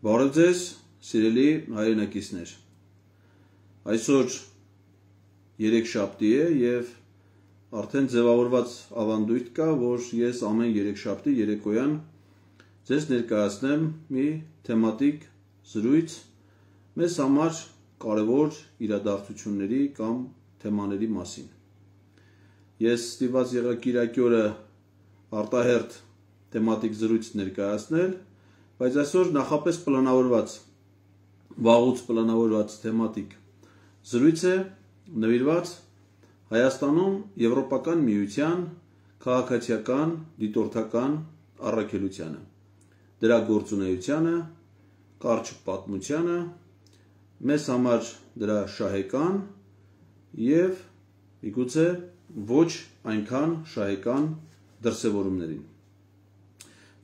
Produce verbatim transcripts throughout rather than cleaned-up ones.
Բարև ձեզ, սիրելի հայրենակիցներ։ Այսօր երեքշաբթի է եւ արդեն ձևավորված ավանդույթ կա, որ ես ամեն երեքշաբթի երեկոյան ձեզ ներկայացնեմ մի թեմատիկ զրույց մեզ համար կարևոր իրադարձությունների կամ թեմաների մասին։ Ես ստիպված եղա Կիրակի օրը արտահերթ թեմատիկ զրույց ներկայացնել, բայց այսօր նախապես պլանավորված, վաղուց պլանավորված թեմատիկ զրույց է նվիրված Հայաստանում Եվրոպական միության քաղաքացիական դիտորդական առաքելությանը, դրա գործունեությանը, կարճ պատմությանը, մեզ համար դրա շահեկան եւ միգուցե ոչ այնքան շահեկան դրսևորումներին։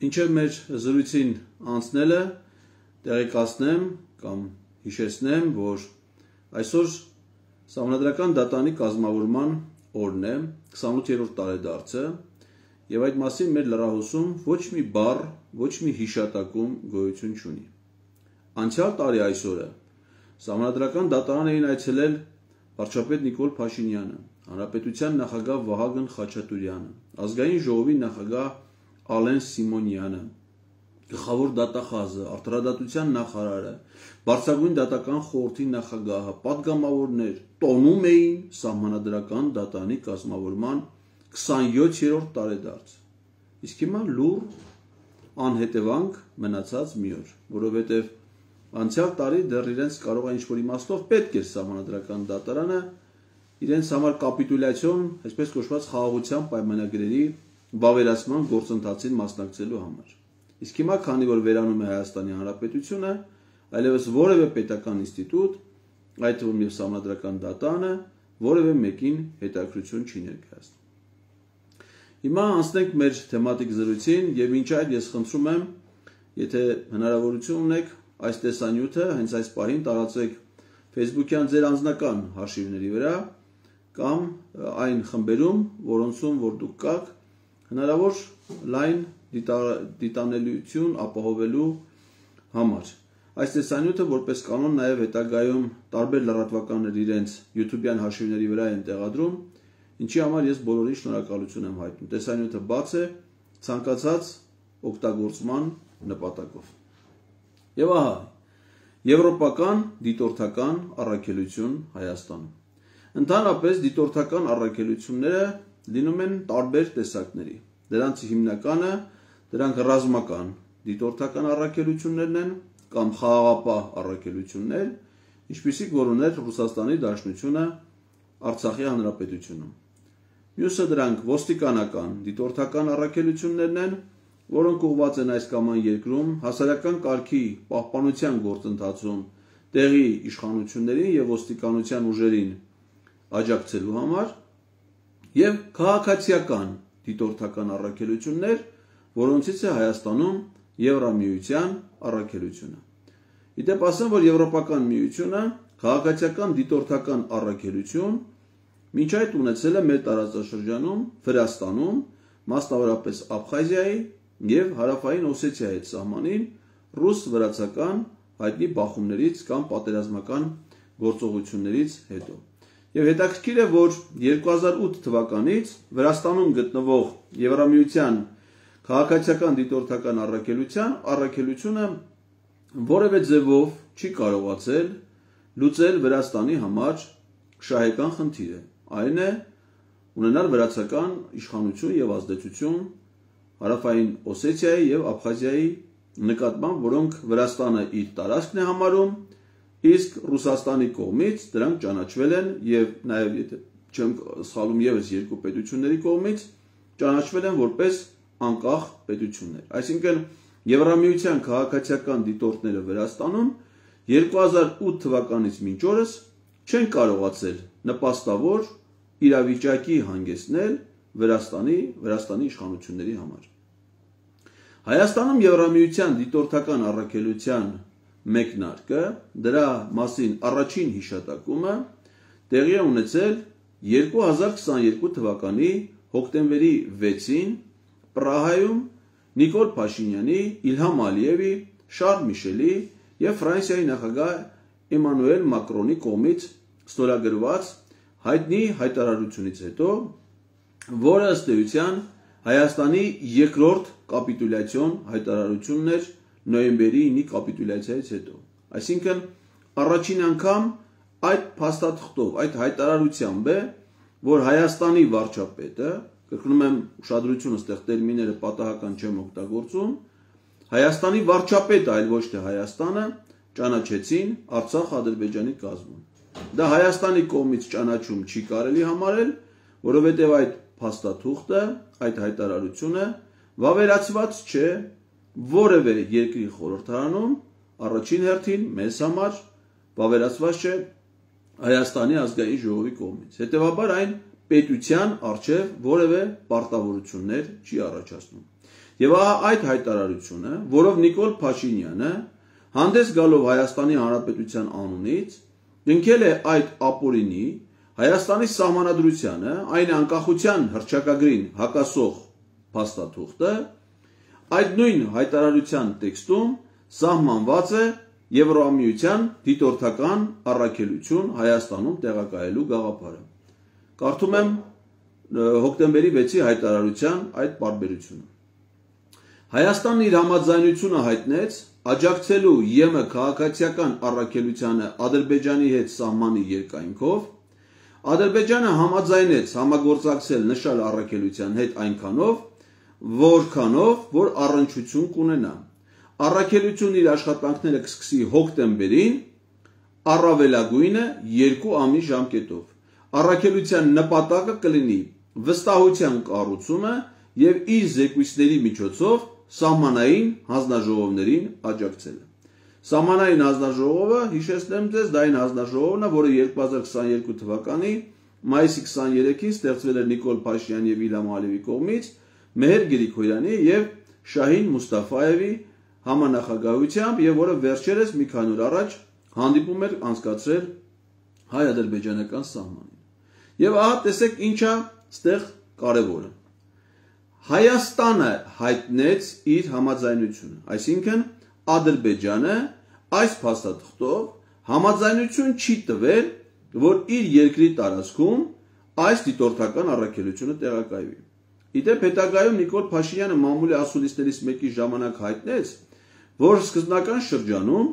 Մինչև մեր զրույցին անցնելը տեղեկացնեմ կամ հիշեցնեմ, որ այսօր Սահմանադրական դատանի կազմավորման օրն է, քսանութերորդ տարեդարձը, եւ այդ մասին մեր լրահոսում ոչ մի բառ, ոչ մի հիշատակում գոյություն չունի։ Անցյալ տարի այսօրը Սահմանադրական դատարան էին այցելել վարչապետ Նիկոլ Փաշինյանը, Հանրապետության նախագահ Վահագն Խաչատուրյանը, Ազգային ժողովի նախագահ Ալեն Սիմոնյանը, գլխավոր դատախազը, արտարադատության նախարարը, Բարձրագույն դատական խորհրդի նախագահը, պատգամավորներ տոնում էին Սահմանադրական դատանի կազմավորման քսանյոթերորդ տարեդարձ։ Իսկ հիմա լուռ անհետևանք մնացած մի օր, որովհետև անցյալ տարի դեռ իրենց կարող է ինչ-որ իմաստով պետք էր Սահմանադրական դատարանը իրենց համար կապիտուլյացիոն, այսպես կոչված խաղաղության պայմանագրերի վավերացման գործընթացին մասնակցելու համար։ Իսկ հիմա, քանի որ վերանում է Հայաստանի Հանրապետությունը, այլևս որևէ պետական ինստիտուտ, այդ թվում եւ Սահմանադրական դատանը, որևէ մեկին հետաքրքրություն չի ներկայացնում։ Հիմա անցնենք մեր թեմատիկ զրույցին եւ մինչ այդ ես խնդրում եմ, եթե հնարավորություն ունեք, այս տեսանյութը հենց այս պահին տարածեք Facebook-յան ձեր անձնական հաշիվների վրա կամ այն խմբերում, որոնցում որ դուք կաք, հնարավոր լայն դիտանելիություն ապահովելու համար։ Այս տեսանյութը որպես կանոն նաև հետագայում տարբեր լրատվականներ իրենց YouTube-յան հաշիվների վրա են տեղադրում, ինչի համար ես բոլորին շնորհակալություն եմ հայտնում։ Տեսանյութը բաց է ցանկացած օգտագործման նպատակով։ Եվ ահա, Եվրոպական դիտորդական առաքելություն Հայաստանում։ Ընդհանրապես դիտորդական առաքելությունները լինում են տարբեր տեսակների։ Դրանց հիմնականը դրանք ռազմական դիտորդական առաքելություններն են կամ խաղաղապահ առաքելություններ, ինչպիսիք որ ուներ Ռուսաստանի Դաշնությունը Արցախի Հանրապետությունում։ Մյուսը դրանք ոստիկանական դիտորդական առաքելություններն են, որոնք ուղղված են այս կամ այն երկրում հասարակական կարգի պահպանության գործընթացում տեղի իշխանություններին եւ ոստիկանության ուժերին աջակցելու համար, եւ քաղաքացիական դիտորդական առաքելություններ, որոնցից է Հայաստանում Եվրամիության առաքելությունը։ Իդեպ ասեմ, որ Եվրոպական միությունը քաղաքացիական դիտորդական առաքելություն մինչ այդ ունեցել է մեր տարածաշրջանում, Վրաստանում, մասնավորապես Աբխազիայի եւ Հարավային Օսեթիայի հետ սահմանին ռուս-վրացական հայտնի բախումներից կամ պատերազմական գործողություններից հետո։ Եվ հետաքրքիր է, որ երկու հազար ութ թվականից Վրաստանում գտնվող Եվրամիության քաղաքացիական դիտորդական առաքելության առաքելությունը որևէ ձևով չի կարողացել լուծել Վրաստանի համար շահեկան խնդիրը, այն է ունենալ վրացական իշխանություն եւ ազդեցություն Հարավային Օսեթիայի եւ Աբխազիայի նկատմամբ, որոնք Վրաստանը իր տարածքն է համարում, իսկ Ռուսաստանի կողմից դրանք ճանաչվել են եւ նաեւ եթե չեմ սխալվում եւս երկու պետությունների կողմից ճանաչվել են որպես անկախ պետություններ։ Այսինքն Եվրամիության քաղաքացիական դիտորդները Վրաստանում երկու հազար ութ թվականից մինչ օրս չեն կարողացել նպաստավոր իրավիճակի հանգեցնել Վրաստանի Վրաստանի իշխանությունների համար։ Հայաստանում Եվրամիության դիտորդական առաքելության մեկնարկը, դրա մասին առաջին հիշատակումը տեղի է ունեցել երկու հազար քսաներկու թվականի հոկտեմբերի վեցին Պրահայում Նիկոլ Փաշինյանի, Իլհամ Ալիևի, Շարլ Միշելի եւ Ֆրանսիայի նախագահ Էմանուել Մակրոնի կողմից ստորագրված հայտնի հայտարարությունից հետո, որը ըստ էության Հայաստանի երկրորդ կապիտուլյացիոն հայտարարությունն էր նոյեմբերի ինի կապիտուլյացիայից հետո։ Այսինքն առաջին անգամ այդ փաստաթղթով, այդ հայտարարությամբ է, որ Հայաստանի վարչապետը, կրկնում եմ ուշադրություն այստեղ տերմինները պատահական չեմ օգտագործում, Հայաստանի վարչապետը, այլ ոչ թե Հայաստանը, ճանաչեցին Արցախ Ադրբեջանի կազմում։ Դա Հայաստանի կողմից ճանաչում չի կարելի համարել, որովհետև այդ փաստաթուղթը, այդ հայտարարությունը վավերացված չէ որևէ երկրի խորհրդարանում, առաջին հերթին մեզ համար վավերացված չէ Հայաստանի ազգային ժողովի կողմից։ Հետևաբար այն պետության առջև որևէ պարտավորություններ չի առաջացնում։ Եվ ահա այդ հայտարարությունը, որով Նիկոլ Փաշինյանը հանդես գալով Հայաստանի Հանրապետության անունից կնքել է այդ ապօրինի Հայաստանի Սահմանադրությանը, այն անկախության հռչակագրին հակասող փաստաթուղթը, այդ նույն հայտարարության տեքստում սահմանված է Եվրամիության դիտորդական առաքելություն Հայաստանում տեղակայելու գաղափարը։ Կարդում եմ հոկտեմբերի վեցի հայտարարության այդ պարբերությունը։ Հայաստանն իր համաձայնությունը հայտնեց աջակցելու ԵՄ քաղաքացիական առաքելությանը Ադրբեջանի հետ սահմանի երկայնքով, Ադրբեջանը համաձայնեց համագործակցել նշալ առաքելության հետ այնքանով, որքանով, որ առնչություն կունենա։ Առաքելությունն իր աշխատանքները կսկսի հոկտեմբերին, առավելագույնը երկու ամիս ժամկետով։ Առաքելության նպատակը կլինի վստահության կառուցումը եւ իր զեկույցների միջոցով սահմանային հանձնաժողովներին աջակցելը։ Սահմանային հանձնաժողովը, հիշեցնեմ ձեզ, դա այն հանձնաժողովն է, որը երկու հազար քսաներկու թվականի մայիսի քսաներեքին ստեղծվել էր Նիկոլ Փաշինյանի եւ Իլհամ Ալիևի կողմից, Մեհեր Գրիգորյանի եւ Շահին Մուստաֆաևի համանախագահությամբ եւ որը վերջերս մի քանի օր առաջ հանդիպում էր անցկացրել հայ-ադրբեջանական սահմանին։ Եվ ահա տեսեք ինչա ստեղ կարևորը։ Հայաստանը հայտնեց իր համաձայնությունը, այսինքն Ադրբեջանը այս փաստաթղթով համաձայնություն չի տվել, որ իր երկրի տարածքում այս դիտորդական առաքելությունը տեղակայվի։ Իդեպ հետագայում Նիկոլ Փաշինյանը մամուլի ասուլիսներից մեկի ժամանակ հայտնեց, որ սկզբնական շրջանում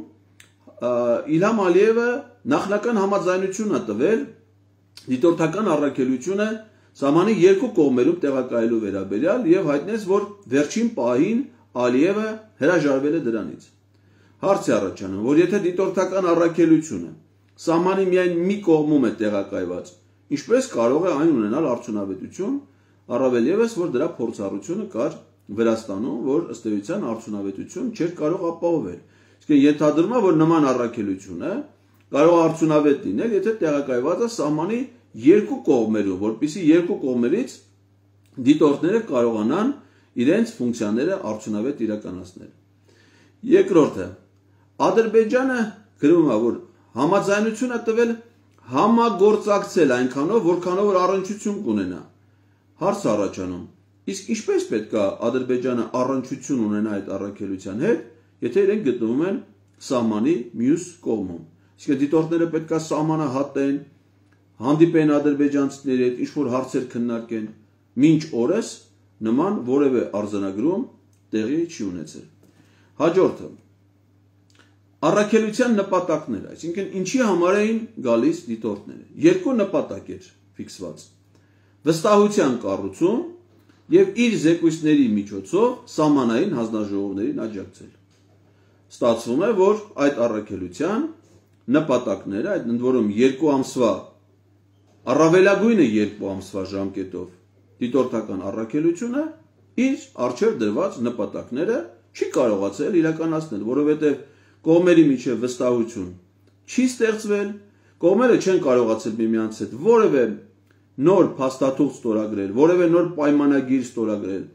Իլհամ Ալիևը նախնական համաձայնություն է տվել դիտորդական առաքելությունը սահմանի երկու կողմերում տեղակայելու վերաբերյալ եւ հայտնեց, որ վերջին պահին Ալիևը հրաժարվել է դրանից։ Հարց է առաջանում, որ եթե դիտորդական առաքելությունը սահմանի միայն մի կողմում է տեղակայված, ինչպես կարող է այն ունենալ արդյունավետություն, առավել ևս, որ դրա փորձառությունը կար Վրաստանում, որ ըստ էության արդյունավետություն չէր կարող ապահովել։ Իսկ ենթադրում է, որ նման առաքելությունը կարող է արդյունավետ լինել, եթե տեղակայված է սահմանի երկու կողմերում, որպեսզի երկու կողմերից դիտորդները կարողանան իրենց ֆունկցիաները արդյունավետ իրականացնել։ Երկրորդը, Ադրբեջանը գրում է, որ համաձայնություն է տվել համագործակցել այնքանով, որքանով որ առնչություն կունենա։ Հարց առաջանում, իսկ ինչպես պետք է Ադրբեջանը առնչություն ունենա այդ առաքելության հետ, եթե իրենք գտնվում են սահմանի մյուս կողմում։ Իսկ դիտորդները պետք է սահմանը հատեն, հանդիպեն ադրբեջանցիների հետ, ինչ-որ հարցեր քննարկեն, մինչ օրս նման որևէ արձանագրում տեղի չի ունեցել։ Հաջորդը, առաքելության նպատակները, այսինքն ինչի համար էին գալիս դիտորդները։ Երկու նպատակ էր ֆիքսված. վստահության կառուցում եւ իր զեկույցների միջոցով սահմանային հանձնաժողովներին աջակցել։ Ստացվում է, որ այդ առաքելության նպատակները, այդ ընդ որում երկու ամսվա առավելագույնը երկու ամսվա ժամկետով դիտորդական առաքելությունը իր առջև դրված նպատակները չի կարողացել իրականացնել, որովհետև կողմերի միջև վստահություն չի ստեղծվել, կողմերը չեն կարողացել միմյանց հետ որևէ նոր փաստաթուղթ ստորագրել, որևէ նոր պայմանագիր ստորագրել։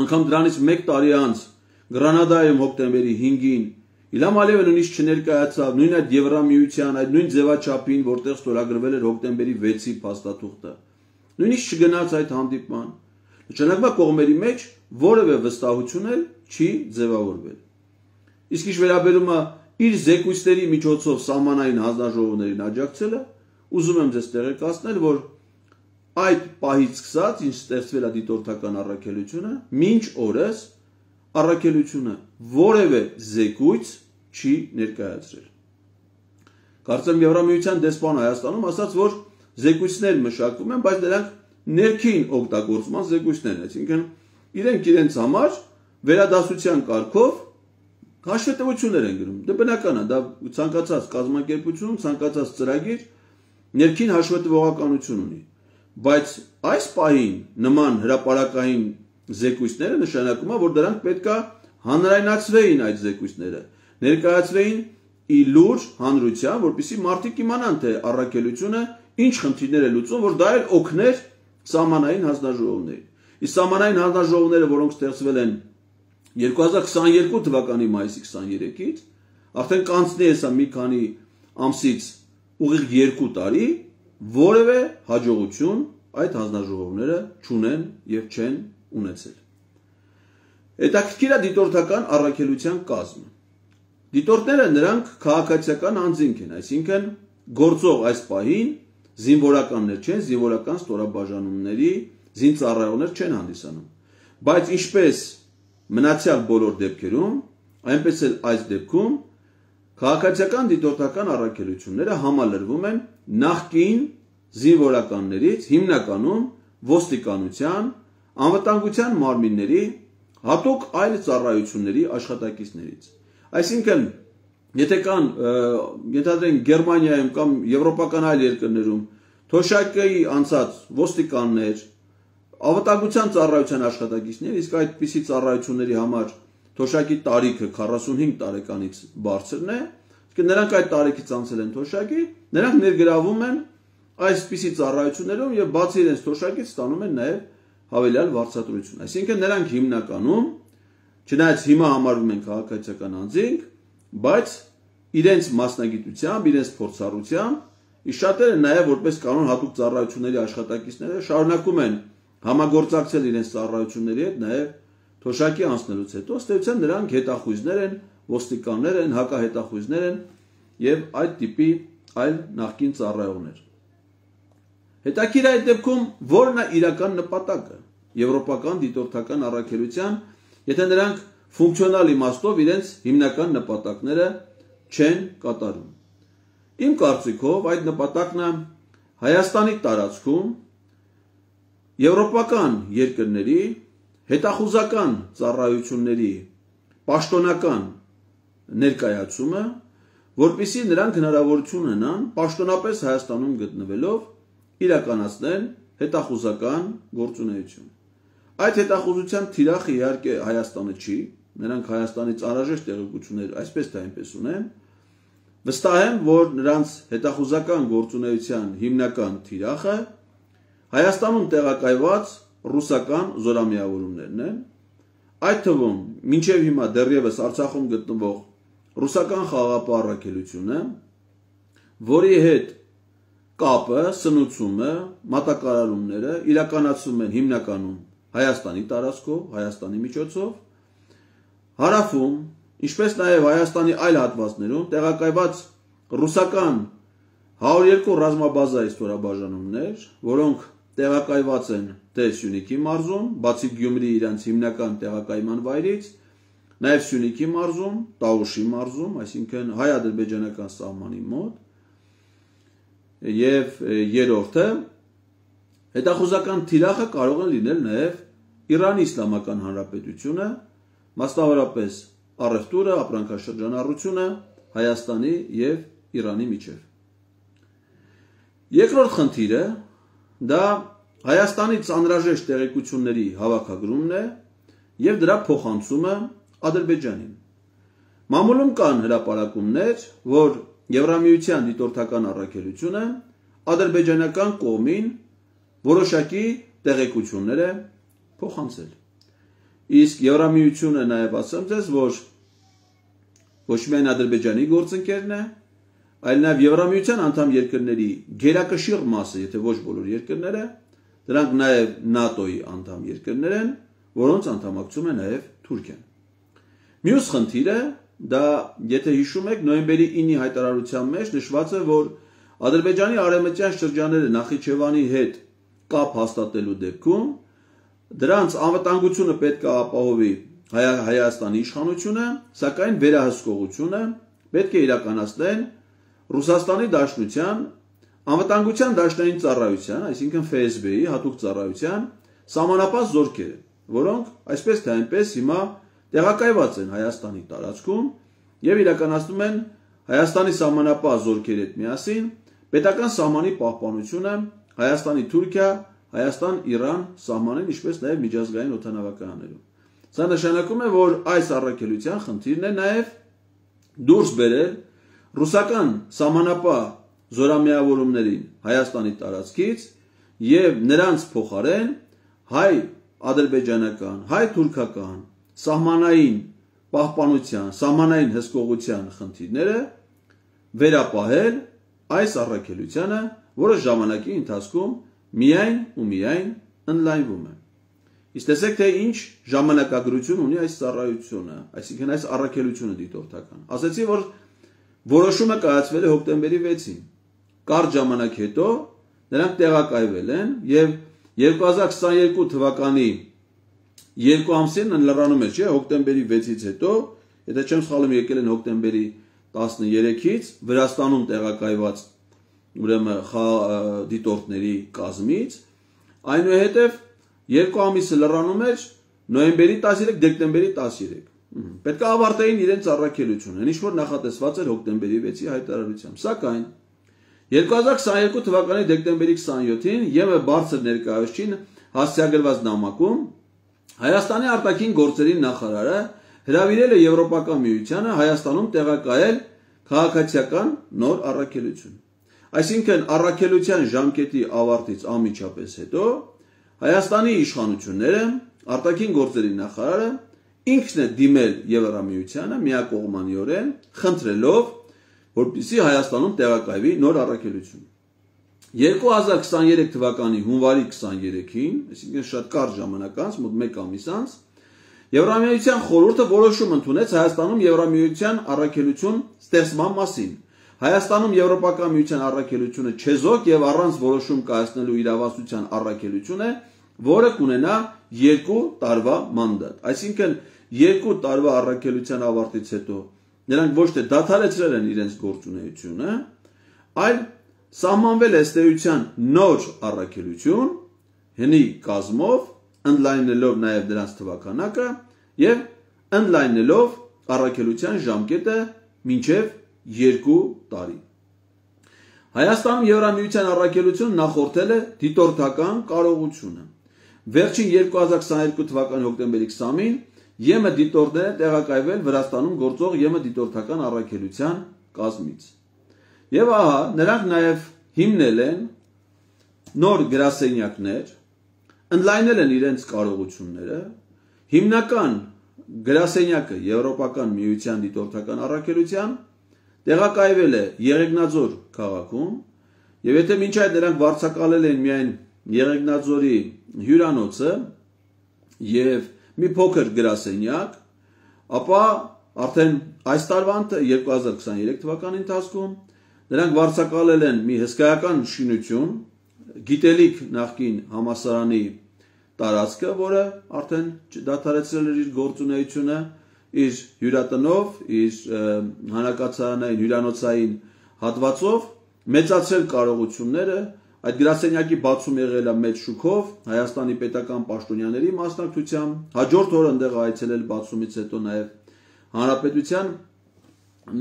Անգամ դրանից մեկ տարի անց Գրանադայում հոկտեմբերի հինգին Իլհամ Ալիևը նույնիսկ չներկայացավ նույն այդ Եվրամիության այդ նույն ձևաչափին, որտեղ ստորագրվել էր հոկտեմբերի վեցի փաստաթուղթը։ Նույնիսկ չգնաց այդ հանդիպման։ Նշանակում է կողմերի մեջ որևէ վստահություն էլ չի ձևավորվել։ Իսկ ինչ վերաբերում է իր զեկույցների միջոցով սահմանային հանձնաժողովներին աջակցելը, ուզում եմ ձեզ տեղեկացնել, որ այդ պահից սկսած, ինչ ստեղծվել է դիտորդական առաքելությունը, մինչ օրս առաքելությունը որևէ զեկույց չի ներկայացրել։ Կարծեմ Եվրամիության դեսպանը Հայաստանում ասաց, որ զեկույցներ մշակվում են, բայց դրանք ներքին օգտագործման զեկույցներ են, այսինքն իրենք իրենց համար վերադասության կարգով հաշվետվություններ են գրում։ Դա բնական է, դա ցանկացած կազմակերպություն, ցանկացած ծրագիր ներքին հաշվետվողականություն ունի։ Բայց այս պահին նման հրապարակային զեկույցները նշանակում է, որ դրանք պետք է հանրայնացվեին այդ զեկույցները, ներկայացվեին ի լուր հանրության, որպեսզի մարդիկ իմանան, թե առաքելությունը ինչ խնդիրներ է լուծում, որ դա էլ օգներ սահմանային հանձնաժողովներին։ Իսկ սահմանային հանձնաժողովները, որոնք ստեղծվել են երկու հազար քսաներկու թվականի մայիսի քսաներեքից, արդեն կանցնի հեսա մի քանի ամսից ուղիղ երկու տարի, որևէ հաջողություն այդ հանձնաժողովները չունեն եւ չեն ունեցել։ Հետաքրքիր է դիտորդական առաքելության կազմը։ Դիտորդները նրանք քաղաքացիական անձինք են, այսինքն գործող այս պահին զինվորականներ չեն, զինվորական ստորաբաժանումների զինծառայողներ չեն հանդիսանում։ Բայց ինչպես մնացյալ բոլոր դեպքերում, այնպես էլ այս դեպքում քաղաքացիական դիտորդական առաքելությունները համալրվում են նախկին զինվորականներից, հիմնականում ոստիկանության, անվտանգության մարմինների, հատուկ այլ ծառայությունների աշխատակիցներից։ Այսինքն, եթե կան, ենթադրենք Գերմանիայում կամ եվրոպական այլ երկրներում թոշակի անցած ոստիկաններ, անվտանգության ծառայության աշխատակիցներ, իսկ այդպիսի ծառայությունների համար թոշակի տարիքը քառասունհինգ տարեկանից բարձրն է, իսկ նրանք այդ տարիքից անցել են թոշակի, նրանք ներգրավում են այսպիսի ծառայություններում եւ բացի իրենց թոշակից ստանում են նաեւ հավելյալ վարձատրություն։ Այսինքն նրանք հիմնականում, չնայած հիմա համարվում են քաղաքացիական անձինք, բայց իրենց մասնագիտությամբ, իրենց փորձառությամբ իսկ շատերը նաեւ որպես կանոն հատուկ ծառայությունների աշխատակիցները շարունակում են համագործակցել իրենց ծառայությունների հետ նաեւ թոշակի անցնելուց հետո, ըստ էության նրանք հետախույզներ են, ոստիկաններ են, հակահետախույզներ են եւ այդ տիպի այլ նախկին ծառայողներ։ Հետաքրքիր է այդ դեպքում որն է իրական նպատակը եվրոպական դիտորդական առաքելության, եթե նրանք ֆունկցիոնալ իմաստով իրենց հիմնական նպատակները չեն կատարում։ Իմ կարծիքով այդ նպատակն է Հայաստանի տարածքում եվրոպական երկրների հետախուզական ծառայությունների պաշտոնական ներկայացումը, որպեսզի նրանք հնարավորություն ունենան պաշտոնապես Հայաստանում գտնվելով իրականացնել հետախուզական գործունեություն։ Այդ հետախուզության թիրախը իհարկե Հայաստանը չի, նրանք Հայաստանից անհրաժեշտ տեղեկություններ այսպես թե այնպես ունեն, վստահ եմ, որ նրանց հետախուզական գործունեության հիմնական թիրախը Հայաստանում տեղակայված ռուսական զորամիավորումներն են, այդ թվում մինչև հիմա դեռևս Արցախում գտնվող ռուսական խաղաղապահ առաքելությունը, որի հետ կապը, սնուցումը, մատակարարումները իրականացվում են հիմնականում Հայաստանի տարածքով, Հայաստանի միջոցով, հարավում, ինչպես նաև Հայաստանի այլ հատվածներում տեղակայված ռուսական հարյուր երկու ռազմաբազայի ստորաբաժանումներ, որոնք տեղակայված են թե Սյունիքի մարզում, բացի Գյումրի իրենց հիմնական տեղակայման վայրից, նաև Սյունիքի մարզում, Տաուշի մարզում, այսինքն հայ-ադրբեջանական սահմանի մոտ, եւ երրորդը հետախուզական թիրախը կարող է լինել նաև Իրանի Իսլամական Հանրապետությունը, մասնավորապես առևտուրը, ապրանքաշրջանառությունը Հայաստանի եւ Իրանի միջև։ Երկրորդ խնդիրը դա Հայաստանից անհրաժեշտ տեղեկությունների հավաքագրումն է եւ դրա փոխանցումը Ադրբեջանին։ Մամուլում կան հրապարակումներ, որ Եվրամիության դիտորդական առաքելությունը ադրբեջանական կողմին որոշակի տեղեկություններ է փոխանցել։ Իսկ Եվրամիությունը նաև ասեմ ձեզ, որ ոչ միայն Ադրբեջանի գործընկերն է, այլ նաև Եվրամիության անդամ երկրների գերակշիռ մասը, եթե ոչ բոլոր երկրները, դրանք նաև ՆԱՏՕ-ի անդամ երկրներ են, որոնց անդամակցում է նաև Թուրքիան։ Մյուս խնդիրը դա եթե հիշում եք նոյեմբերի ինի հայտարարության մեջ նշված է, որ Ադրբեջանի արևմտյան շրջանները Նախիջևանի հետ կապ հաստատելու դեպքում դրանց անվտանգությունը պետք է ապահովի Հայաստանի իշխանությունը, սակայն վերահսկողությունը պետք է իրականացնեն Ռուսաստանի Դաշնության անվտանգության դաշնային ծառայության, այսինքն F S B-ի հատուկ ծառայության սահմանապահ զորքերը, որոնք այսպես թե այնպես հիմա տեղակայված են Հայաստանի տարածքում եւ իրականացնում են Հայաստանի սահմանապահ զորքերի հետ միասին պետական սահմանի պահպանությունը Հայաստանի Թուրքիա, Հայաստան-Իրան սահմանին, ինչպես նաեւ միջազգային օդանավակայաններում։ Սա նշանակում է, որ այս առաքելության խնդիրն է նաեւ դուրս բերել ռուսական սահմանապահ զորամիավորումներին Հայաստանի տարածքից եւ նրանց փոխարեն հայ ադրբեջանական, հայ թուրքական սահմանային պահպանության, սահմանային հսկողության խնդիրները վերապահել այս առաքելությանը, որը ժամանակի ընթացքում միայն ու միայն ընդլայնվում է։ Իսկ տեսեք, թե ինչ ժամանակագրություն ունի այս ծառայությունը, այսինքն այս առաքելությունը դիտորդական։ Ասացի, որ որոշումը կայացվել է հոկտեմբերի վեցին։ Կարճ ժամանակ հետո նրանք տեղակայվել են եւ երկու հազար քսաներկու թվականի երկու ամսին լրանում է, չէ, հոկտեմբերի վեցից հետո, եթե չեմ սխալվում, եկել են հոկտեմբերի տասներեքից Վրաստանում տեղակայված ուրեմն դիտորդների կազմից, այնուհետև երկու ամիսը լրանում էր նոյեմբերի տասներեք, դեկտեմբերի տասներեք։ Պետք է ավարտեին իրենց առաքելությունը, ինչ որ նախատեսված էր հոկտեմբերի վեցի հայտարարությամբ։ Սակայն երկու հազար քսաներկու թվականի դեկտեմբերի քսաներկուին ԵՄ բարձր ներկայացուցիչին հասցեագրված նամակում Հայաստանի արտաքին գործերի նախարարը հրավիրել է Եվրոպական միությանը Հայաստանում տեղակայել քաղաքացիական նոր առաքելություն։ Այսինքն առաքելության ժամկետի ավարտից անմիջապես հետո Հայաստանի իշխանությունները, արտաքին գործերի նախարարը ինքն է դիմել Եվրամիությանը միակողմանիորեն խնդրելով, որպեսզի Հայաստանում տեղակայվի նոր առաքելություն։ երկու հազար քսաներեք թվականի հունվարի քսաներեքին, այսինքն շատ կարճ ժամանակ անց, մոտ մեկ ամիս անց, Եվրամիության խորհուրդը որոշում ընդունեց Հայաստանում Եվրամիության առաքելություն ստեղծման մասին։ Հայաստանում Եվրոպական միության առաքելությունը չեզոք եւ առանց որոշում կայացնելու իրավասության առաքելություն է, որը կունենա երկու տարվա մանդատ։ Այսինքն երկու տարվա առաքելության ավարտից հետո նրանք ոչ թե դադարեցրել են իրենց գործունեությունը, այլ սահմանվել է ստեյության նոր առաքելություն, հնի կազմով, ընդլայնելով նաև դրանց թվականակը եւ ընդլայնելով առաքելության ժամկետը մինչեւ երկու տարի։ Հայաստանում Եվրամիության առաքելությունը նախորդել է դիտորդական կարողությունը։ Վերջին երկու հազար քսաներկու թվականի հոկտեմբերի քսանին ԵՄ դիտորդները տեղակայվել Վրաստանում գործող ԵՄ դիտորդական առաքելության կազմից։ Եվ ահա նրանք նաև հիմնել են նոր գրասենյակներ, ընդլայնել են իրենց կարողությունները, հիմնական գրասենյակը Եվրոպական միության դիտորդական առաքելության տեղակայվել է Եղեգնաձոր քաղաքում, եւ եթե մինչ այդ նրանք վարձակալել են միայն Եղեգնաձորի հյուրանոցը եւ մի փոքր գրասենյակ, ապա արդեն այս տարվա երկու հազար քսաներեք թվականի ընթացքում նրանք վարձակալել են մի հսկայական շինություն, գիտելիք նախկին համալսարանի տարածքը, որը արդեն դադարեցրել էր իր գործունեությունը, իր հյուրատնով, իր հանակացարանային հյուրանոցային հատվածով, մեծացրել կարողությունները, այդ գրասենյակի բացում եղել է մեծ շուքով, Հայաստանի պետական պաշտոնյաների մասնակցությամբ, հաջորդ օրը այնտեղ այցելել բացումից հետո նաև Հանրապետության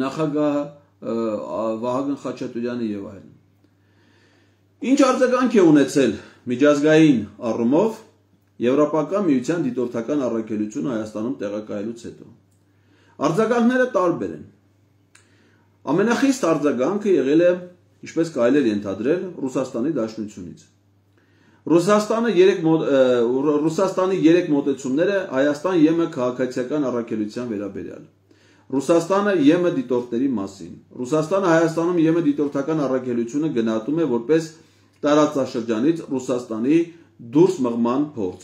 նախագահ Վահագն Խաչատուրյանը եւ այլն։ Ինչ արձագանք է ունեցել միջազգային առումով Եվրոպական միության դիտորդական առաքելությունը Հայաստանում տեղակայելուց հետո։ Արձագանքները տարբեր են։ Ամենախիստ արձագանքը եղել է, ինչպես կարելի է ենթադրել, Ռուսաստանի Դաշնությունից։ Ռուսաստանը երեք Ռուսաստանի երեք մոտեցումները Հայաստան-ԵՄ քաղաքացիական առաքելության վերաբերյալ։ Ռուսաստանը ԵՄ դիտորդների մասին։ Ռուսաստանը Հայաստանում ԵՄ դիտորդական առաքելությունը գնահատում է որպես տարածաշրջանից Ռուսաստանի դուրս մղման փորձ։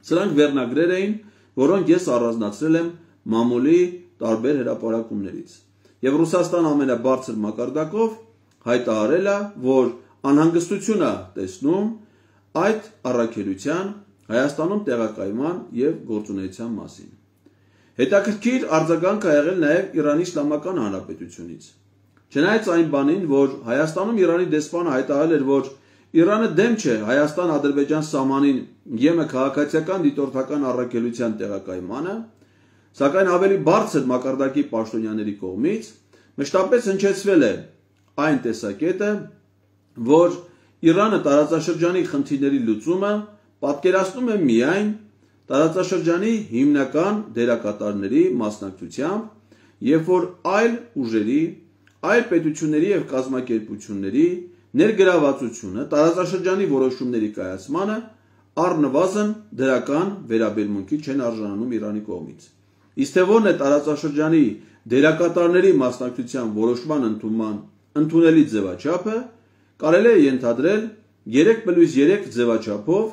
Սրանք վերնագրեր էին, որոնք ես առանձնացրել եմ մամուլի տարբեր հրապարակումներից։ Եվ Ռուսաստան ամենաբարձր մակարդակով հայտարարել է, որ անհանգստություն է տեսնում այդ առաքելության Հայաստանում տեղակայման եւ գործունեության մասին։ Հետաքրքիր արձագանք է եղել նաեւ Իրանի Իսլամական Հանրապետությունից։ Չնայած այն բանին, որ Հայաստանում Իրանի դեսպանը հայտարարել էր, որ Իրանը դեմ չէ Հայաստան-Ադրբեջան սահմանին ԵՄ քաղաքացիական դիտորդական առաքելության տեղակայմանը, սակայն ավելի բարձր մակարդակի պաշտոնյաների կողմից մշտապես հնչեցվել է այն տեսակետը, որ Իրանը տարածաշրջանի խնդիրների լուծումը պատկերացնում է միայն տարածաշրջանի հիմնական դերակատարների մասնակցությամբ, երբ որ այլ ուժերի, այլ պետությունների եւ կազմակերպությունների ներգրավվածությունը տարածաշրջանի որոշումների կայացմանը առնվազն դրական վերաբերմունքի չեն արժանանում Իրանի կողմից։ Իսկ թե ո՞րն է տարածաշրջանի դերակատարների մասնակցության որոշման ընդունման ընդունելի ձևաչափը, կարելի է ենթադրել երեք պլյուս երեք ձևաչափով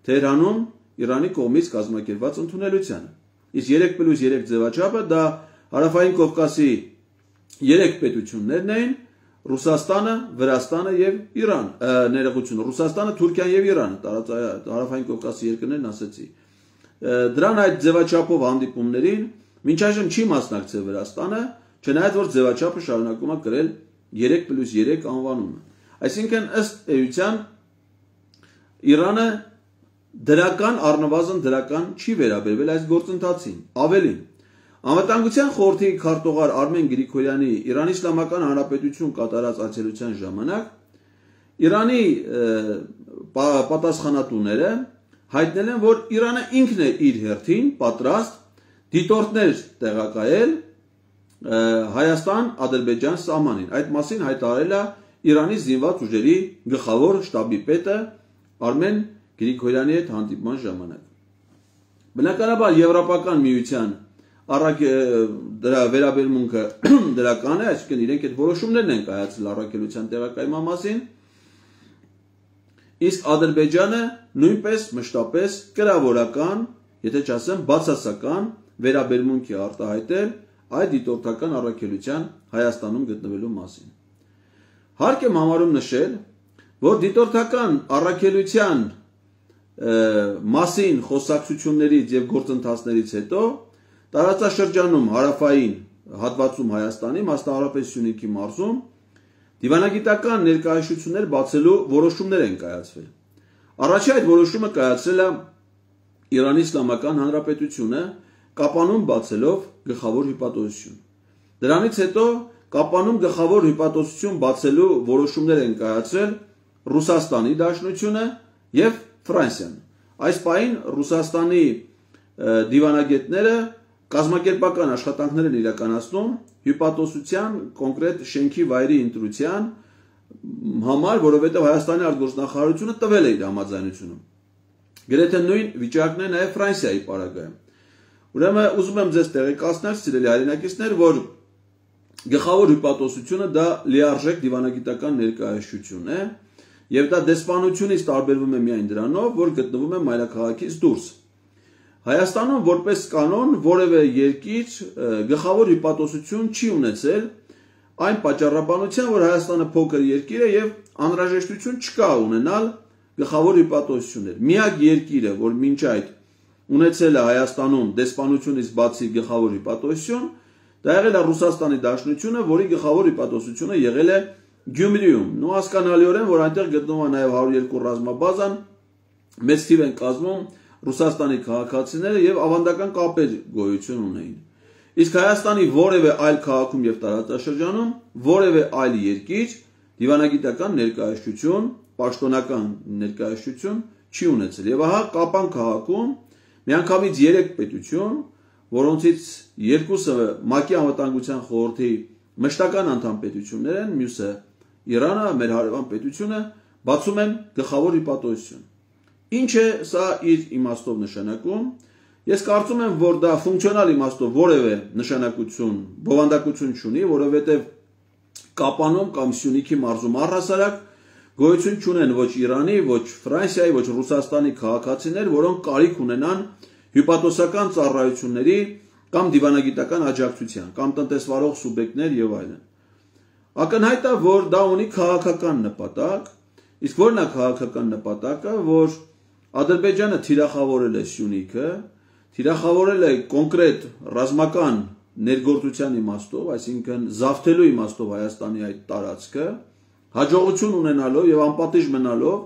Թեհրանում Իրանի կողմից կազմակերպված ընդունելությանը։ Իսկ երեք պլյուս երեք ձևաչափը դա Հարավային Կովկասի երեք պետություններն էին՝ Ռուսաստանը, Վրաստանը եւ Իրան, ներողություն, Ռուսաստանը, Թուրքիան եւ Իրանը, Հարավային Կովկասի երկրներն ասեցի։ Դրան այդ ձևաչափով հանդիպումներին մինչ այժմ չի մասնակցել Վրաստանը, չնայած որ ձևաչափը շարունակում է կրել երեք պլյուս երեք անվանումը։ Այսինքն ըստ էության Իրանը դրական առնվազն դրական չի վերաբերվել այս գործընթացին։ Ավելին, Անվտանգության խորհրդի քարտուղար Արմեն Գրիգորյանի Իրանի Իսլամական Հանրապետություն կատարած այցելության ժամանակ Իրանի պատասխանատուները հայտնել են, որ Իրանը ինքն է իր հերթին պատրաստ դիտորդներ տեղակայել Հայաստան-Ադրբեջան սահմանին։ Այդ մասին հայտարարել է Իրանի զինված ուժերի գլխավոր շտաբի պետը Արմեն Գրիգորյանի հետ հանդիպման ժամանակ։ Բնականաբար Եվրոպական միության առակ դրա վերաբերմունքը դրական է, այսինքն իրենք այդ որոշումներն են կայացել առաքելության տեղակայման մասին, իսկ Ադրբեջանը նույնպես մշտապես կրավորական, եթե չասեմ բացասական վերաբերմունք է արտահայտել այդ դիտորդական առաքելության Հայաստանում գտնվելու մասին։ Հարկ եմ համարում նշել, որ դիտորդական առաքելության մասին խոսակցություններից եւ գործընթացներից հետո տարածաշրջանում հարավային հատվածում Հայաստանի, մասնավորապես Սյունիքի մարզում դիվանագիտական ներկայացություններ բացելու որոշումներ են կայացվել։ Առաջի այդ որոշումը կայացրել է Իրանի Իսլամական Հանրապետությունը Կապանում բացելով գլխավոր հյուպատոսություն։ Դրանից հետո Կապանում գլխավոր հյուպատոսություն բացելու որոշումներ են կայացրել Ռուսաստանի Դաշնությունը եւ Ֆրանսիան։ Այս պահին Ռուսաստանի դիվանագետները կազմակերպական աշխատանքներ են իրականացնում հյուպատոսության կոնկրետ շենքի վայրի ընտրության համար, որովհետեւ Հայաստանի արտգործնախարարությունը տվել է իր համաձայնությունը։ Գրեթե նույն վիճակն է նաեւ Ֆրանսիայի պարագայում։ Ուրեմն ուզում եմ ձեզ տեղեկացնել, սիրելի հայրենակիցներ, որ գլխավոր հյուպատոսությունը դա լիարժեք դիվանագիտական ներկայացություն է, եւ դա դեսպանությունից տարբերվում է միայն դրանով, որ գտնվում է մայրաքաղաքից դուրս։ Հայաստանում որպես կանոն որևէ երկիր գլխավոր հյուպատոսություն չի ունեցել այն պատճառաբանությամբ, որ Հայաստանը փոքր երկիր է եւ անհրաժեշտություն չկա ունենալ գլխավոր հյուպատոսություններ։ Միակ երկիրը, որ մինչ այդ ունեցել է Հայաստանում դեսպանությունից բացի գլխավոր հյուպատոսություն, դա եղել է Ռուսաստանի Դաշնությունը, որի գլխավոր հյուպատոսությունը եղել է Գյումրիում։ Նու հասկանալիորեն, որ այնտեղ գտնվում է նաեւ հարյուր երկու ռազմաբազան, մեծ թիվ են կազմում Ռուսաստանի քաղաքացիները եւ ավանդական կապեր գոյություն ունեին։ Իսկ Հայաստանի որևէ այլ քաղաքում եւ տարածաշրջանում որևէ այլ երկիր դիվանագիտական ներկայացություն, պաշտոնական ներկայացություն չի ունեցել։ Եվ ահա Կապան քաղաքում միանգամից երեք պետություն, որոնցից երկուսը ՄԱԿ-ի անվտանգության խորհրդի մշտական անդամ պետություններ են, մյուսը Իրանը, մեր հարևան պետությունը, բացում են գլխավոր հյուպատոսություն։ Ինչ է սա իր իմաստով նշանակում։ Ես կարծում եմ, որ դա ֆունկցիոնալ իմաստով որևէ նշանակություն, բովանդակություն չունի, որովհետև Կապանում կամ Սյունիքի մարզում առհասարակ գոյություն չունեն ոչ Իրանի, ոչ Ֆրանսիայի, ոչ Ռուսաստանի քաղաքացիներ, որոնք կարիք ունենան հյուպատոսական ծառայությունների կամ դիվանագիտական աջակցության, կամ տնտեսվարող սուբյեկտներ եւ այլն։ Ակնհայտ է, որ դա ունի քաղաքական նպատակ, իսկ որն է քաղաքական նպատակը, որ Ադրբեջանը թիրախավորել է Սյունիքը, թիրախավորել է կոնկրետ ռազմական ներգործության իմաստով, այսինքն զավթելու իմաստով Հայաստանի այդ տարածքը, հաջողություն ունենալով եւ անպատիժ մնալով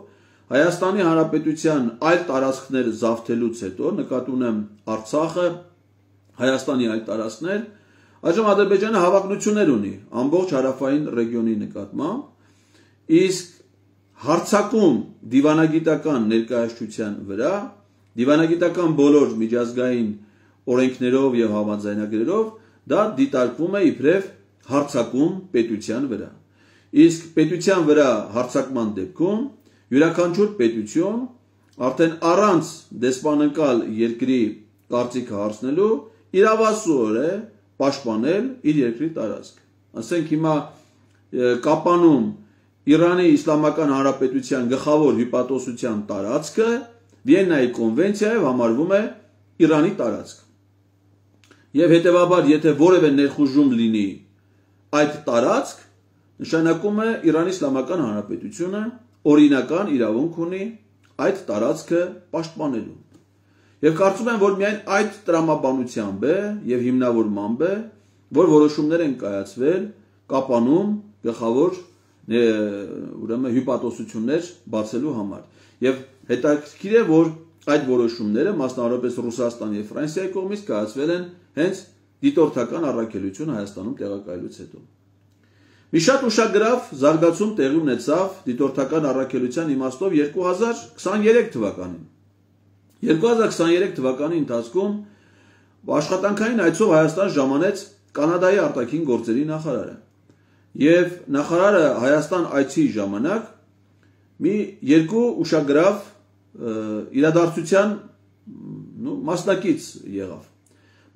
Հայաստանի Հանրապետության այլ տարածքներ զավթելուց հետո, նկատի ունեմ Արցախը, Հայաստանի այլ տարածքներ, այժմ Ադրբեջանը հավակնություններ ունի ամբողջ հարավային ռեգիոնի նկատմամբ, իսկ հարձակում դիվանագիտական ներկայացության վրա, դիվանագիտական բոլոր միջազգային օրենքներով եւ համաձայնագրերով դա դիտարկվում է իբրև հարձակում պետության վրա։ Իսկ պետության վրա հարձակման դեպքում յուրաքանչյուր պետություն արդեն առանց դեսպանընկալ երկրի կարծիքը հարցնելու իրավասու է պաշտպանել իր երկրի տարածքը։ Ասենք հիմա Կապանում Իրանի Իսլամական Հանրապետության գլխավոր հյուպատոսության տարածքը Վիեննայի կոնվենցիայով համարվում է Իրանի տարածք։ Եվ հետևաբար, եթե որևէ ներխուժում լինի այդ տարածք, նշանակում է Իրանի Իսլամական Հանրապետությունը օրինական իրավունք ունի այդ տարածքը պաշտպանելու։ Եվ կարծում եմ, որ միայն այդ տրամաբանությամբ է եւ հիմնավորմամբ է, որ որոշումներ են կայացվել Կապանում գլխավոր ուրեմն հյուպատոսություններ բացելու համար։ Եվ հետաքրքիր է, որ այդ որոշումները մասնավորապես Ռուսաստանի եւ Ֆրանսիայի կողմից կայացվել են հենց դիտորդական առաքելություն Հայաստանում տեղակայելուց հետո։ Մի շատ ուշագրավ զարգացում տեղի ունեցավ դիտորդական առաքելության իմաստով երկու հազար քսաներեք թվականին։ երկու հազար քսաներեք թվականի ընթացքում աշխատանքային այցով Հայաստան ժամանեց Կանադայի արտաքին գործերի նախարարը։ Եվ նախարարը Հայաստան այցի ժամանակ մի երկու ուշագրավ իրադարձության մասնակից եղավ։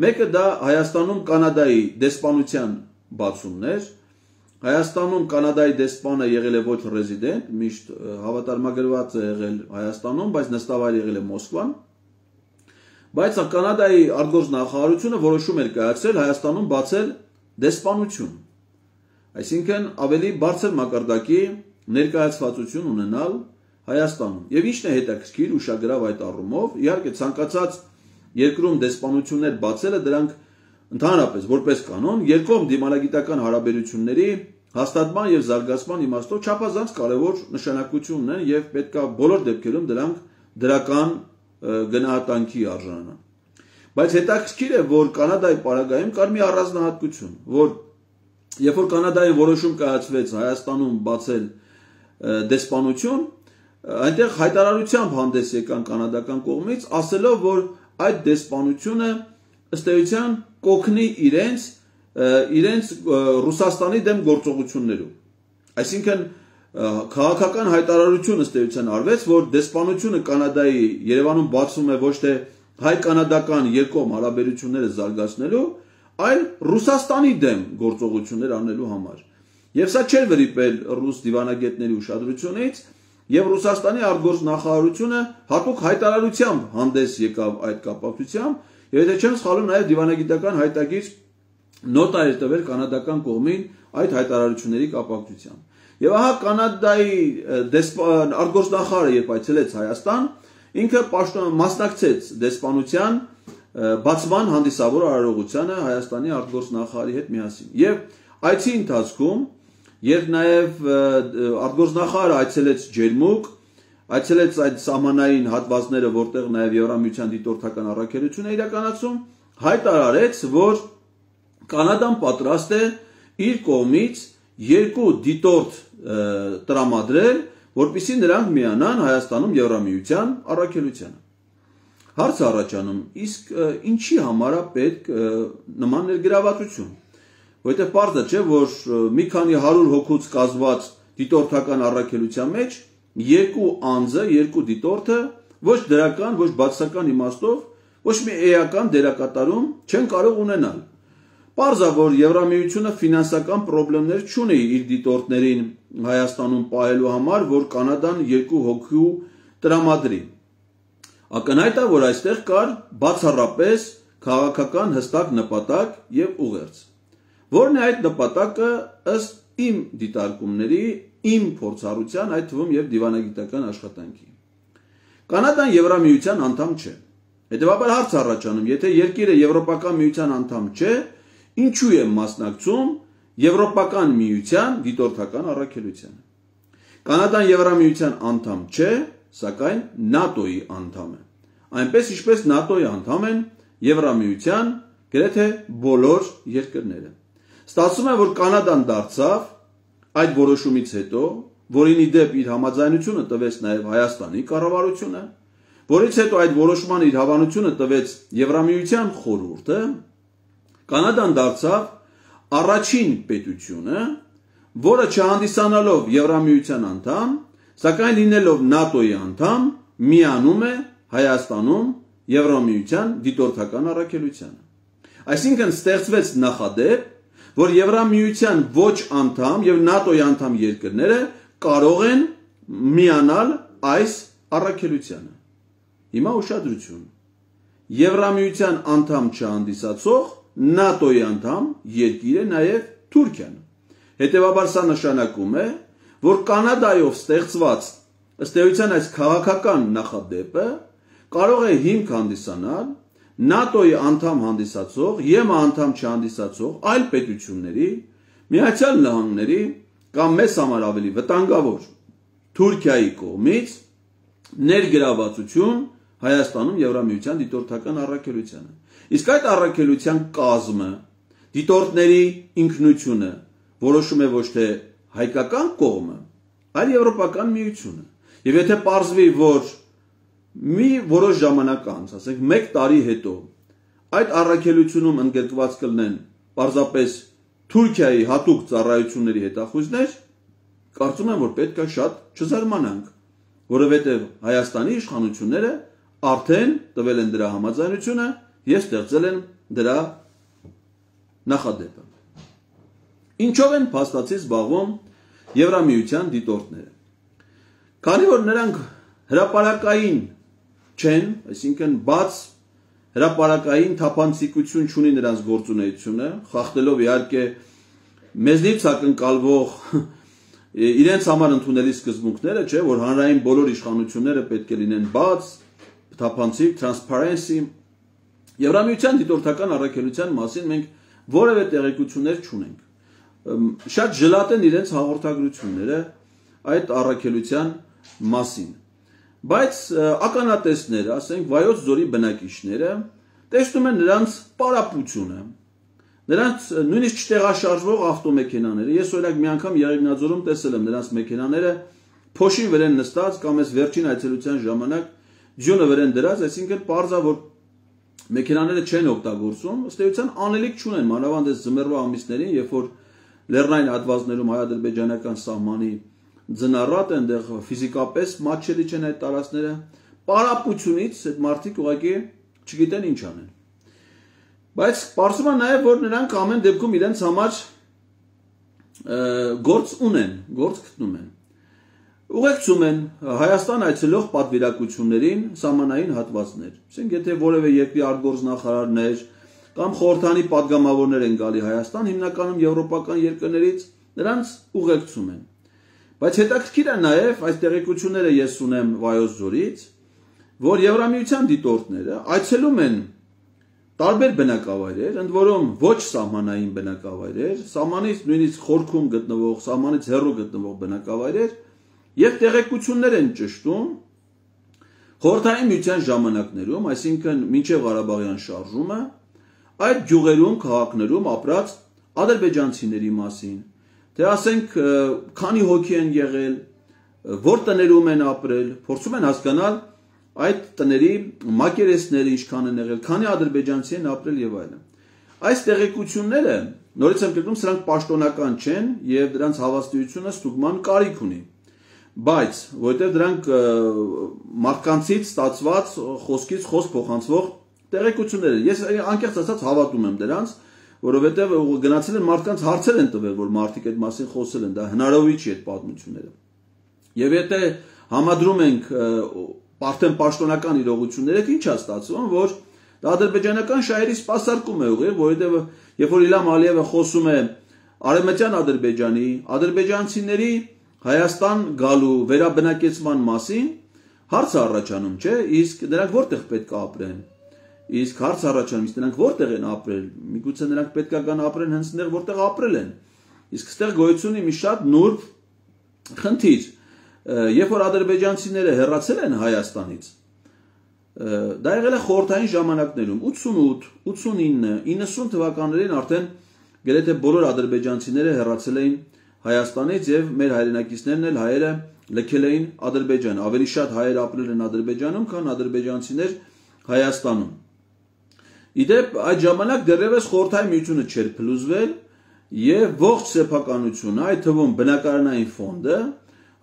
Մեկը դա Հայաստանում Կանադայի դեսպանության բացումն էր։ Հայաստանում Կանադայի դեսպանը եղել է ոչ ռեզիդենտ, միշտ հավատարմագրված է եղել Հայաստանում, բայց նստավայր եղել է Մոսկվան։ Բայց Կանադայի արտգործնախարարությունը որոշում էր կայացրել Հայաստանում բացել դեսպանություն։ Այսինքն ավելի բարձր մակարդակի ներկայացվածություն ունենալ Հայաստանում։ Եվ ինչն է հետաքրքիր ուշագրավ այդ առումով, իհարկե ցանկացած երկրում դեսպանություններ բացելը դրանք ընդհանրապես որպես կանոն երկկողմ դիմալագիտական հարաբերությունների հաստատման եւ զարգացման իմաստով չափազանց կարեւոր նշանակություն ունեն եւ պետքա բոլոր դեպքերում դրանք դրական գնահատանքի արժանանան։ Բայց հետաքրքիր է, որ Կանադայի պարագայում կար մի առանձնահատկություն, որ երբ որ Կանադայի որոշում կայացվեց Հայաստանում բացել դեսպանություն, այնտեղ հայտարարությամբ հանդես եկան կանադական կողմից, ասելով, որ այդ դեսպանությունը ըստ էության կօգնի իրենց իրենց Ռուսաստանի դեմ գործողություններում։ Այսինքն քաղաքական հայտարարություն ըստ էության արվեց, որ դեսպանությունը Կանադայի Երևանում բացվում է ոչ թե հայ-կանադական երկկողմ հարաբերությունները զարգացնելու, այլ Ռուսաստանի դեմ գործողություններ անելու համար։ Եվ սա չէր վրիպել ռուս դիվանագետների ուշադրությունից, եւ Ռուսաստանի արտգործնախարարությունը հատուկ հայտարարությամբ հանդես եկավ այդ կապակցությամբ, եւ եթե չեմ սխալվում, նաեւ դիվանագիտական հայտագիր նոտա էր տվել կանադական կողմին այդ հայտարարությունների կապակցությամբ։ Եվ ահա Կանադայի արտգործնախարարը երբ այցելեց Հայաստան, ինքը մասնակցեց դեսպանության բացման հանդիսավոր արարողությանը Հայաստանի արտգործնախարարի հետ միասին։ Եվ այցի ընթացքում, երբ նաև արտգործնախարարը այցելեց Ջերմուկ, այցելեց այդ սահմանային հատվածները, որտեղ նաև Եվրամիության դիտորդական առաքելություն է իրականացում, հայտարարեց, որ Կանադան պատրաստ է իր կողմից երկու դիտորդ տրամադրել, որպեսզի նրանք միանան Հայաստանում Եվրամիության առաքելությանը։ Հարց առաջանում, իսկ ինչի համար է պետք նման ներգրավվածություն, որովհետև պարզ է, չէ, որ մի քանի հարյուր հոգուց կազմված դիտորդական առաքելության մեջ երկու անձը, երկու դիտորդը ոչ դրական, ոչ բացասական իմաստով, ոչ մի էական դերակատարում չեն կարող ունենալ։ Պարզ է, որ Եվրամիությունը ֆինանսական խնդիրներ չունի իր դիտորդներին Հայաստանում պահելու համար, որ Կանադան երկու հոգու տրամադրի։ Ակնհայտ է, որ այստեղ կար բացառապես քաղաքական հստակ նպատակ եւ ուղերձ։ Որն է այդ նպատակը ըստ իմ դիտարկումների, իմ փորձառության, այդ թվում եւ դիվանագիտական աշխատանքի։ Կանադան Եվրամիության անդամ չէ։ Հետևաբար հարց առաջանում, եթե երկիրը Եվրոպական միության անդամ չէ, ինչու է մասնակցում Եվրոպական միության դիտորդական առաքելությանը։ Կանադան Եվրամիության անդամ չէ, սակայն նատոյի անդամ է։ Այնպես ինչպես նատոյի անդամ են Եվրամիության գրեթե բոլոր երկրները։ Ստացվում է, որ Կանադան դարձավ այդ որոշումից հետո, որին ի դեպ իր համաձայնությունը տվեց նաև Հայաստանի կառավարությունը, որից հետո այդ որոշման իր հավանությունը տվեց Եվրամիության խորհուրդը, Կանադան դարձավ առաջին պետությունը, որը չհանդիսանալով Եվրամիության անդամ, սակայն լինելով նատոյի անդամ, միանում է Հայաստանում Եվրամիության դիտորդական առաքելությանը։ Այսինքն ստեղծվեց նախադեպ, որ Եվրամիության ոչ անդամ եւ նատոյի անդամ երկրները կարող են միանալ այս առաքելությանը։ Հիմա ուշադրություն։ Եվրամիության անդամ չհանդիսացող նատոյի անդամ երկիր է նաև Թուրքիան։ Հետևաբար սա նշանակում է, որ Կանադայով ստեղծված ըստ էության այս քաղաքական նախադեպը կարող է հիմք հանդիսանալ նատոյի անդամ հանդիսացող եւ անդամ չհանդիսացող այլ պետությունների, Միացյալ Նահանգների կամ մեծ համար ավելի վտանգավոր Թուրքիայի կողմից ներգրավվածություն Հայաստանում Եվրամիության դիտորդական առաքելությանը։ Իսկ այդ առաքելության կազմը, դիտորդների ինքնությունը որոշում է ոչ թե հայկական կողմը, այլ Եվրոպական միությունը։ Եվ եթե պարզվի, որ մի որոշ ժամանակ անց, ասենք մեկ տարի հետո, այդ առաքելությունում ընդգրկված կլինեն պարզապես Թուրքիայի հատուկ ծառայությունների հետախույզներ, կարծում եմ, որ պետք է շատ չզարմանանք, որովհետև Հայաստանի իշխանությունները արդեն տվել են դրա համաձայնությունը եւ ստեղծել են դրա նախադեպը։ Ինչով են փաստացի զբաղվում Եվրամիության դիտորդները։ Քանի որ նրանք հրապարակային չեն, այսինքն բաց հրապարակային թափանցիկություն չունի նրանց գործունեությունը, խախտելով իհարկե մեզնից ակնկալվող իրենց համար ընդունելի սկզբունքները, չէ, որ հանրային բոլոր իշխանությունները պետք է լինեն բաց, թափանցիկ, transparency։ Եվրամիության դիտորդական առաքելության մասին մենք որևէ տեղեկություններ չունենք։ Շատ ժլատ են իրենց հաղորդագրությունները այդ առաքելության մասին։ Բայց ականատեսները, ասենք Վայոց ձորի բնակիչները, տեսնում են նրանց պարապությունը, նրանց նույնիսկ չտեղաշարժվող ավտոմեքենաները։ Ես օրինակ մի անգամ Եղեգնաձորում տեսել եմ նրանց մեքենաները փոշի վրա նստած կամ այս վերջին այցելության ժամանակ ձյունը վրան դրած, այսինքն պարզա որ մեքենաները չեն օգտագործում, ըստ էության անելիք չունեն, մանավանդ այս ձմեռվա ամիսներին, երբ որ լեռնային հատվածներում հայ-ադրբեջանական սահմանի ձնառատ են, այնտեղ ֆիզիկապես մատչելի չեն այդ տարածքները, պարապությունից այդ մարդիկ ուղղակի չգիտեն ինչ անեն։ Բայց պարզվում է նաև, որ նրանք ամեն դեպքում իրենց համար գործ ունեն, գործ գտնում են։ Ուղեկցում են Հայաստան այցելող պատվիրակություններին սահմանային հատվածներ։ Ասենք եթե որևէ երկրի արտգործնախարարներ կամ խորհրդանի падգամավորներ են գալի Հայաստան, հիմնականում եվրոպական երկրներից, նրանց ուղեկցում են։ Բայց հետաքրքիր է նաև այս տեղեկությունները ես ունեմ Վայոց ձորից, որ Եվրամիության դիտորդները այցելում են տարբեր բնակավայրեր, ընդ որում ոչ սահմանային բնակավայրեր, սահմանից նույնիսկ խորքում գտնվող, սահմանից հեռու գտնվող բնակավայրեր եւ տեղեկություններ են ճշտում խորհրդային միության ժամանակներում, այսինքն մինչև Ղարաբաղյան շարժումը, այդ գյուղերում, քաղաքներում ապրած ադրբեջանցիների մասին, թե ասենք քանի հոգի են եղել, որ տներում են ապրել, փորձում են հասկանալ այդ տների մակերեսները ինչքան են եղել, քանի ադրբեջանցի են ապրել եւ այլն։ Այս տեղեկությունները, նորից եմ կրկնում, սրանք պաշտոնական չեն եւ դրանց հավաստիությունը ստուգման կարիք ունի։ Բայց որտեղ դրանք մարդկանցից ստացված խոսքից խոսք փոխանցվող տեղեկություններ են։ Ես անկեղծ ասած հավատում եմ դրանց, որովհետեւ գնացել են մարդկանց հարցեր են տվել, որ մարդիկ այդ մասին խոսել են, դա հնարավոր չի այդ պատմությունները։ Եվ եթե համադրում ենք արդեն պաշտոնական իրողությունները, ինչ է ստացվում, որ Դա ադրբեջանական շահերի սպասարկում է ուղիղ, որովհետև երբ որ Իլհամ Ալիևը խոսում է Արևմտյան Ադրբեջանի, ադրբեջանցիների Հայաստան գալու վերաբնակեցման մասին, հարց է առաջանում, չէ՞, իսկ նրանք որտեղ պետք է ապրեն։ Իսկ հարց առաջանում, իսկ նրանք որտեղ են ապրել։ Միգուցե նրանք պետք է գան ապրեն հենց այնտեղ, որտեղ ապրել են։ Իսկ այստեղ գոյություն ունի մի շատ նուրբ խնդիր։ Երբ որ ադրբեջանցիները հեռացել են Հայաստանից, դա եղել է խորհրդային ժամանակներում, ութսունութ, ութսունինը, իննսուն թվականներին արդեն գրեթե բոլոր ադրբեջանցիները հեռացել էին Հայաստանից եւ մեր հայրենակիցներն էլ հայերը լքել էին Ադրբեջան։ Ավելի շատ հայեր ապրել են Ադրբեջանում, քան ադրբեջանցիներ Հայաստանում։ Իդեպ այդ ժամանակ դեռևս խորհրդային միությունը չէր փլուզվել եւ ողջ սեփականությունը, այդ թվում բնակարանային ֆոնդը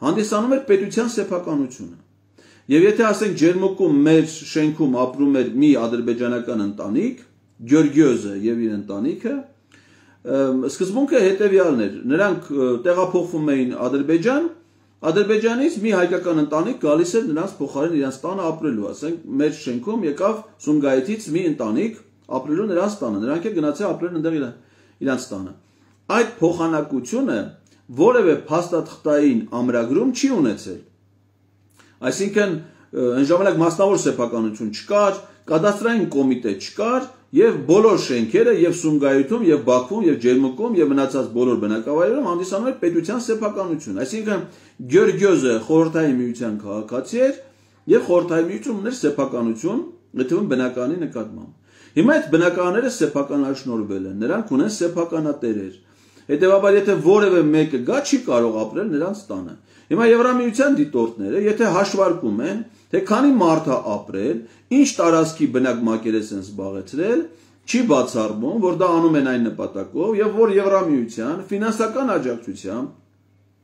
հանդիսանում էր պետության սեփականությունը։ Եվ եթե ասենք Ջերմուկում մեր շենքում ապրում էր մի ադրբեջանական ընտանիք, Գյորգիոզը եւ իր ընտանիքը, սկզբունքը հետեւյալն էր. նրանք տեղափոխվում էին Ադրբեջան, Ադրբեջանից մի հայկական ընտանիք գալիս էր նրանց փոխարեն իրենց տանը ապրելու, ասենք մեր շենքում եկավ Սումգայիթից մի ընտանիք ապրելու նրանց տանը, նրանք էլ գնացել ապրել այնտեղ իրենց տանը։ Այդ փոխանակությունը որևէ փաստաթղթային ամրագրում չի ունեցել։ Այսինքն այն ժամանակ մասնավոր սեփականություն չկար, կադաստրային կոմիտե չկար եւ բոլոր շենքերը եւ Սումգայիթում եւ Բաքվում եւ Ջերմուկում եւ մնացած բոլոր բնակավայրերում հանդիսանում էր պետության սեփականություն։ Այսինքն Գյորգիոզը խորհրդային միության քաղաքացի էր եւ խորհրդային միությունում ուներ սեփականություն, գտվում բնականի նկատմամբ։ Հիմա այդ բնականները սեփականաշնորհվել են, նրանք ունեն սեփականատերեր։ Հետևաբար եթե որևէ մեկը գա չի կարող ապրել նրանց տանը։ Հիմա Եվրամիության դիտորդները, եթե հաշվարկում են, թե քանի մարդ է ապրել, ինչ տարածքի բնակ մակերես են զբաղեցրել, չի բացառվում, որ դա անում են այն նպատակով եւ որ Եվրամիության ֆինանսական աջակցությամբ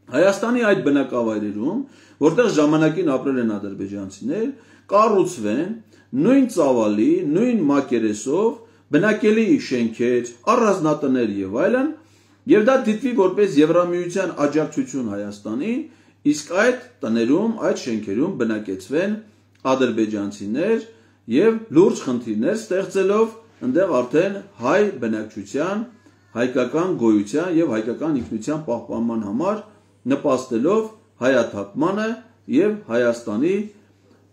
Հայաստանի այդ բնակավայրերում, որտեղ ժամանակին ապրել են ադրբեջանցիներ, կառուցվեն նույն ծավալի, նույն մակերեսով բնակելի շենքեր, առանձնատներ եւ այլն, եւ դա դիտվի որպես Եվրամիության աջակցություն Հայաստանին, իսկ այդ տներում, այդ շենքերում բնակեցվեն ադրբեջանցիներ եւ լուրջ խնդիրներ ստեղծելով այնտեղ արդեն հայ բնակչության, հայկական գոյության եւ հայկական ինքնության պահպանման համար նպաստելով հայաթափմանը եւ Հայաստանի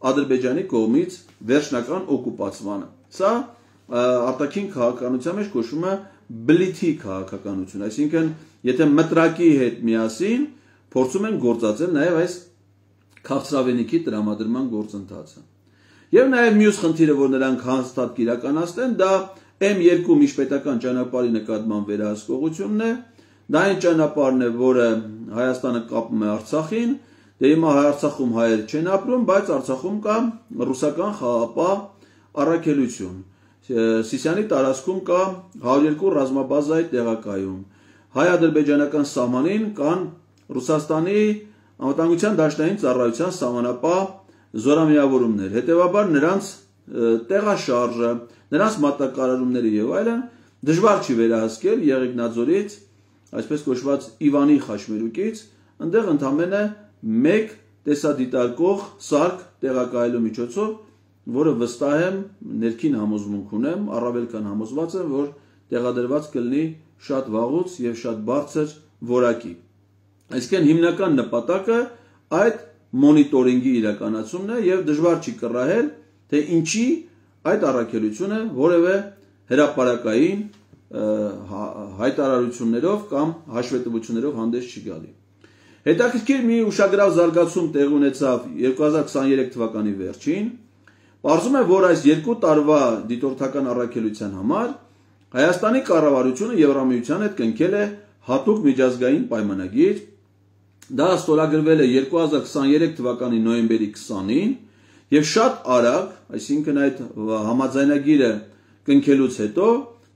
Ադրբեջանի կողմից վերջնական օկուպացմանը։ Սա արտաքին քաղաքականության մեջ կոչվում է բլիթի քաղաքականություն, այսինքն եթե մտրակի հետ միասին փորձում են գործածել նաեւ այս քաղցրավենիքի տրամադրման գործընթացը։ Եվ նաեւ մյուս խնդիրը, որ նրանք հաստատ իրականացնեն, դա էմ երկու միջպետական ճանապարհի նկատմամբ վերահսկողությունն է։ Դա այն ճանապարհն է, որը Հայաստանը կապում է Արցախին, դե հիմա Արցախում հայեր չեն ապրում, բայց Արցախում կա ռուսական խաղապահ առաքելություն։ Սիսիանի տարածքում կա հարյուր երկու ռազմաբազայի տեղակայում։ Հայ-ադրբեջանական սահմանին կան Ռուսաստանի անվտանգության դաշնային ծառայության սահմանապահ զորամիավորումներ։ Հետևաբար նրանց տեղաշարժը, նրանց մատակարարումները եւ այլն դժվար չի վերահսկել Եղեգնաձորից, այսպես կոչված Իվանի խաչմերուկից, այնտեղ ընդամենը մեկ տեսադիտարկող սարք տեղակայելու միջոցով, որը վստահ եմ ներքին համոզմունք ունեմ, առավել քան համոզված եմ, որ տեղադրված կլինի շատ վաղուց եւ շատ բարձր որակի։ Այսինքն հիմնական նպատակը այդ մոնիտորինգի իրականացումն է եւ դժվար չի կռահել, թե ինչի այդ առաքելությունը որևէ հրապարակային հայտարարություններով կամ հաշվետվություններով հանդես չի գալի։ Հետաքրքիր մի ուշագրավ զարգացում տեղի ունեցավ երկու հազար քսաներեք թվականի վերջին։ Պարզվում է, որ այս երկու տարվա դիտորդական առաքելության համար Հայաստանի կառավարությունը Եվրամիության հետ կնքել է հատուկ միջազգային պայմանագիր։ Դա ստորագրվել է երկու հազար քսաներեք թվականի նոյեմբերի քսանին եւ շատ արագ, այսինքն այդ համաձայնագիրը կնքելուց հետո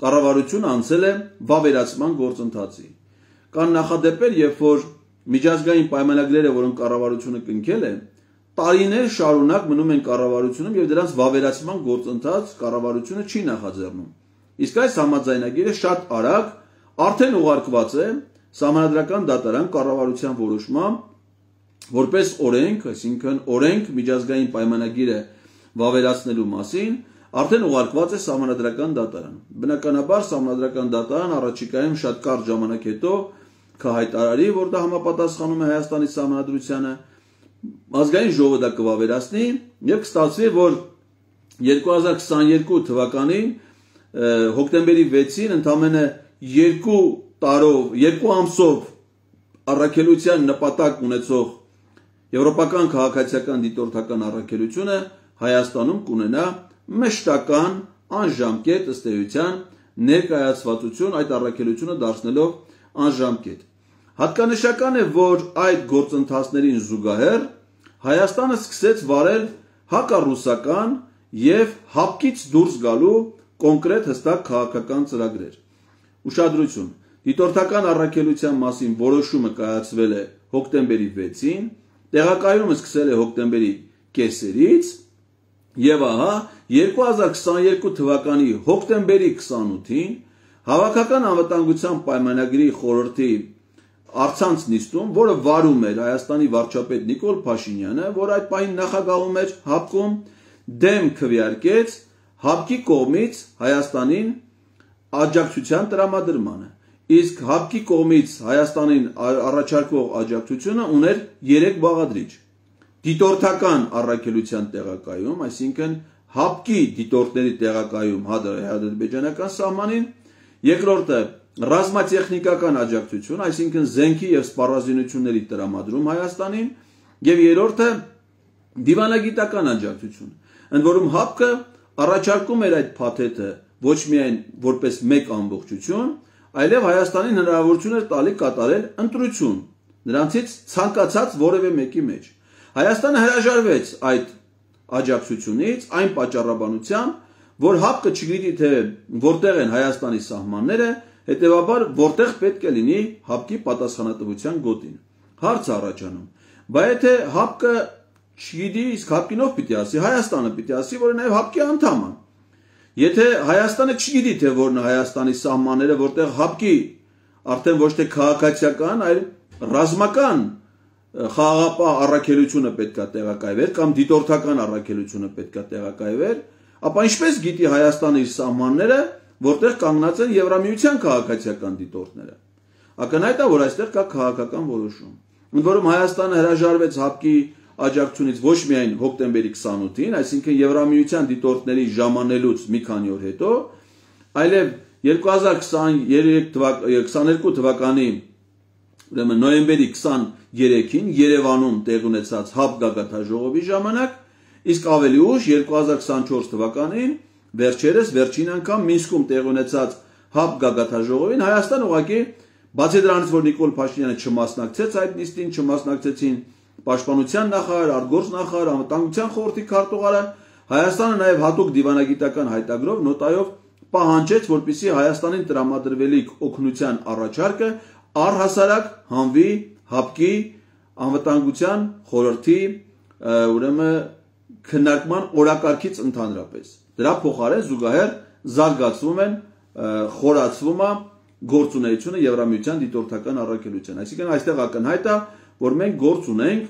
կառավարությունը անցել է վավերացման գործընթացի։ Կան նախադեպեր, երբ որ միջազգային պայմանագրերը, որոնք կառավարությունը կնքել է, տարիներ շարունակ մնում են կառավարությունում եւ դրանց վավերացման գործընթաց կառավարությունը չի նախաձեռնում։ Իսկ այս համաձայնագիրը շատ արագ արդեն ուղարկված է Սահմանադրական դատարան կառավարության որոշմամբ որպես օրենք, այսինքն օրենք միջազգային պայմանագիրը վավերացնելու մասին, արդեն ուղարկված է Սահմանադրական դատարան։ Բնականաբար Սահմանադրական դատարան առաջիկայում շատ կարճ ժամանակ հետո կհայտարարի, որ դա համապատասխանում է Հայաստանի Սահմանադրությանը, ազգային ժողովը դա կվավերացնի եւ կստացվի, որ երկու հազար քսաներկու թվականին հոկտեմբերի վեցին ընդամենը երկու տարով, երկու ամսով առաքելության նպատակ ունեցող եվրոպական քաղաքացիական դիտորդական առաքելությունը Հայաստանում կունենա մշտական անժամկետ ըստ էության ներկայացվածություն, այդ առաքելությունը դարձնելով անժամկետ։ Հատկանշական է, որ այդ գործընթացներին զուգահեռ Հայաստանը սկսեց վարել հակառուսական եւ հապկից դուրս գալու կոնկրետ հստակ քաղաքական ծրագրեր։ Ուշադրություն, դիտորդական առաքելության մասին որոշումը կայացվել է հոկտեմբերի վեցին, տեղակայումը սկսել է հոկտեմբերի կեսերից եւ ահա երկու հազար քսաներկու թվականի հոկտեմբերի քսանութին Հավաքական անվտանգության պայմանագրի խորհրդի առցանց նիստում, որը վարում էր Հայաստանի վարչապետ Նիկոլ Փաշինյանը, որ այդ պահին նախագահում էր ՀԱՊԿ-ում, դեմ քվեարկեց ՀԱՊԿ-ի կողմից Հայաստանին աջակցության տրամադրմանը։ Իսկ ՀԱՊԿ-ի կողմից Հայաստանին առաջարկվող աջակցությունը ուներ երեք բաղադրիչ. դիտորդական առաքելության տեղակայում, այսինքն ՀԱՊԿ-ի դիտորդների տեղակայում հայ-ադրբեջանական սահմանին, երկրորդը ռազմատեխնիկական աջակցություն, այսինքն զենքի եւ սպառազինությունների տրամադրում Հայաստանին, եւ երրորդը դիվանագիտական աջակցություն։ Ընդ որում ՀԱՊԿ-ը առաջարկում էր այդ փաթեթը ոչ միայն որպես մեկ ամբողջություն, այլև Հայաստանին հնարավորություն էր տալի կատարել ընտրություն նրանցից ցանկացած որևէ մեկի մեջ։ Հայաստանը հրաժարվեց այդ աջակցությունից այն պատճառաբանությամբ, որ ՀԱՊԿ-ը չգիտի թե որտեղ են Հայաստանի սահմանները, հետևաբար որտեղ պետք է լինի ՀԱՊԿ-ի պատասխանատվության գոտին։ Հարց է առաջանում, բայց եթե ՀԱՊԿ-ը չգիտի, իսկ ՀԱՊԿ-ին ով պիտի ասի, Հայաստանը պիտի ասի, որը նաև ՀԱՊԿ-ի անդամ է։ Եթե Հայաստանը չգիտի թե որն է Հայաստանի սահմանները, որտեղ ՀԱՊԿ-ի արդեն ոչ թե քաղաքացիական, այլ ռազմական խաղաղապահ առաքելությունը պետք է տեղակայվեր կամ դիտորդական առաքելությունը պետք է տեղակայվեր, ապա ինչպես գիտի Հայաստանը իր սահմանները, որտեղ կանգնած են Եվրամիության քաղաքացիական դիտորդները։ Ակնհայտ է, որ այստեղ կա քաղաքական որոշում։ Ընդ որում Հայաստանը հրաժարվեց ՀԱՊԿ-ի աջակցությունից ոչ միայն հոկտեմբերի քսանութին, այսինքն Եվրամիության դիտորդների ժամանելուց մի քանի օր հետո, այլև երկու հազար քսաներկու թվականի ուրեմն նոյեմբերի քսաներեքին Երևանում տեղ ունեցած ՀԱՊԿ գագաթնաժողովի ժամանակ, իսկ ավելի ուշ երկու հազար քսանչորս թվականին վերջերս վերջին անգամ Մինսկում տեղ ունեցած ՀԱՊԿ գագաթնաժողովին Հայաստան ուղղակի բացի դրանից, որ Նիկոլ Փաշինյանը չմասնակցեց այդ նիստին, չմասնակցեցին Պաշտպանության նախարար, արտգործնախարար, անվտանգության խորհրդի քարտուղարը, Հայաստանը նաև հատուկ դիվանագիտական հայտագրով նոտայով պահանջեց, որպեսզի Հայաստանին տրամադրվելիք օգնության առաջարկը առհասարակ հանվի ՀԱՊԿ-ի անվտանգության խորհրդի ուրեմն քննարկման օրակարգից ընդհանրապես։ Դրա փոխարեն զուգահեռ զարգացվում են խորացվում է գործունեությունը Եվրամիության դիտորդական առաքելության։ Այսինքն այստեղ ակնհայտ է, որ մենք գործ ունենք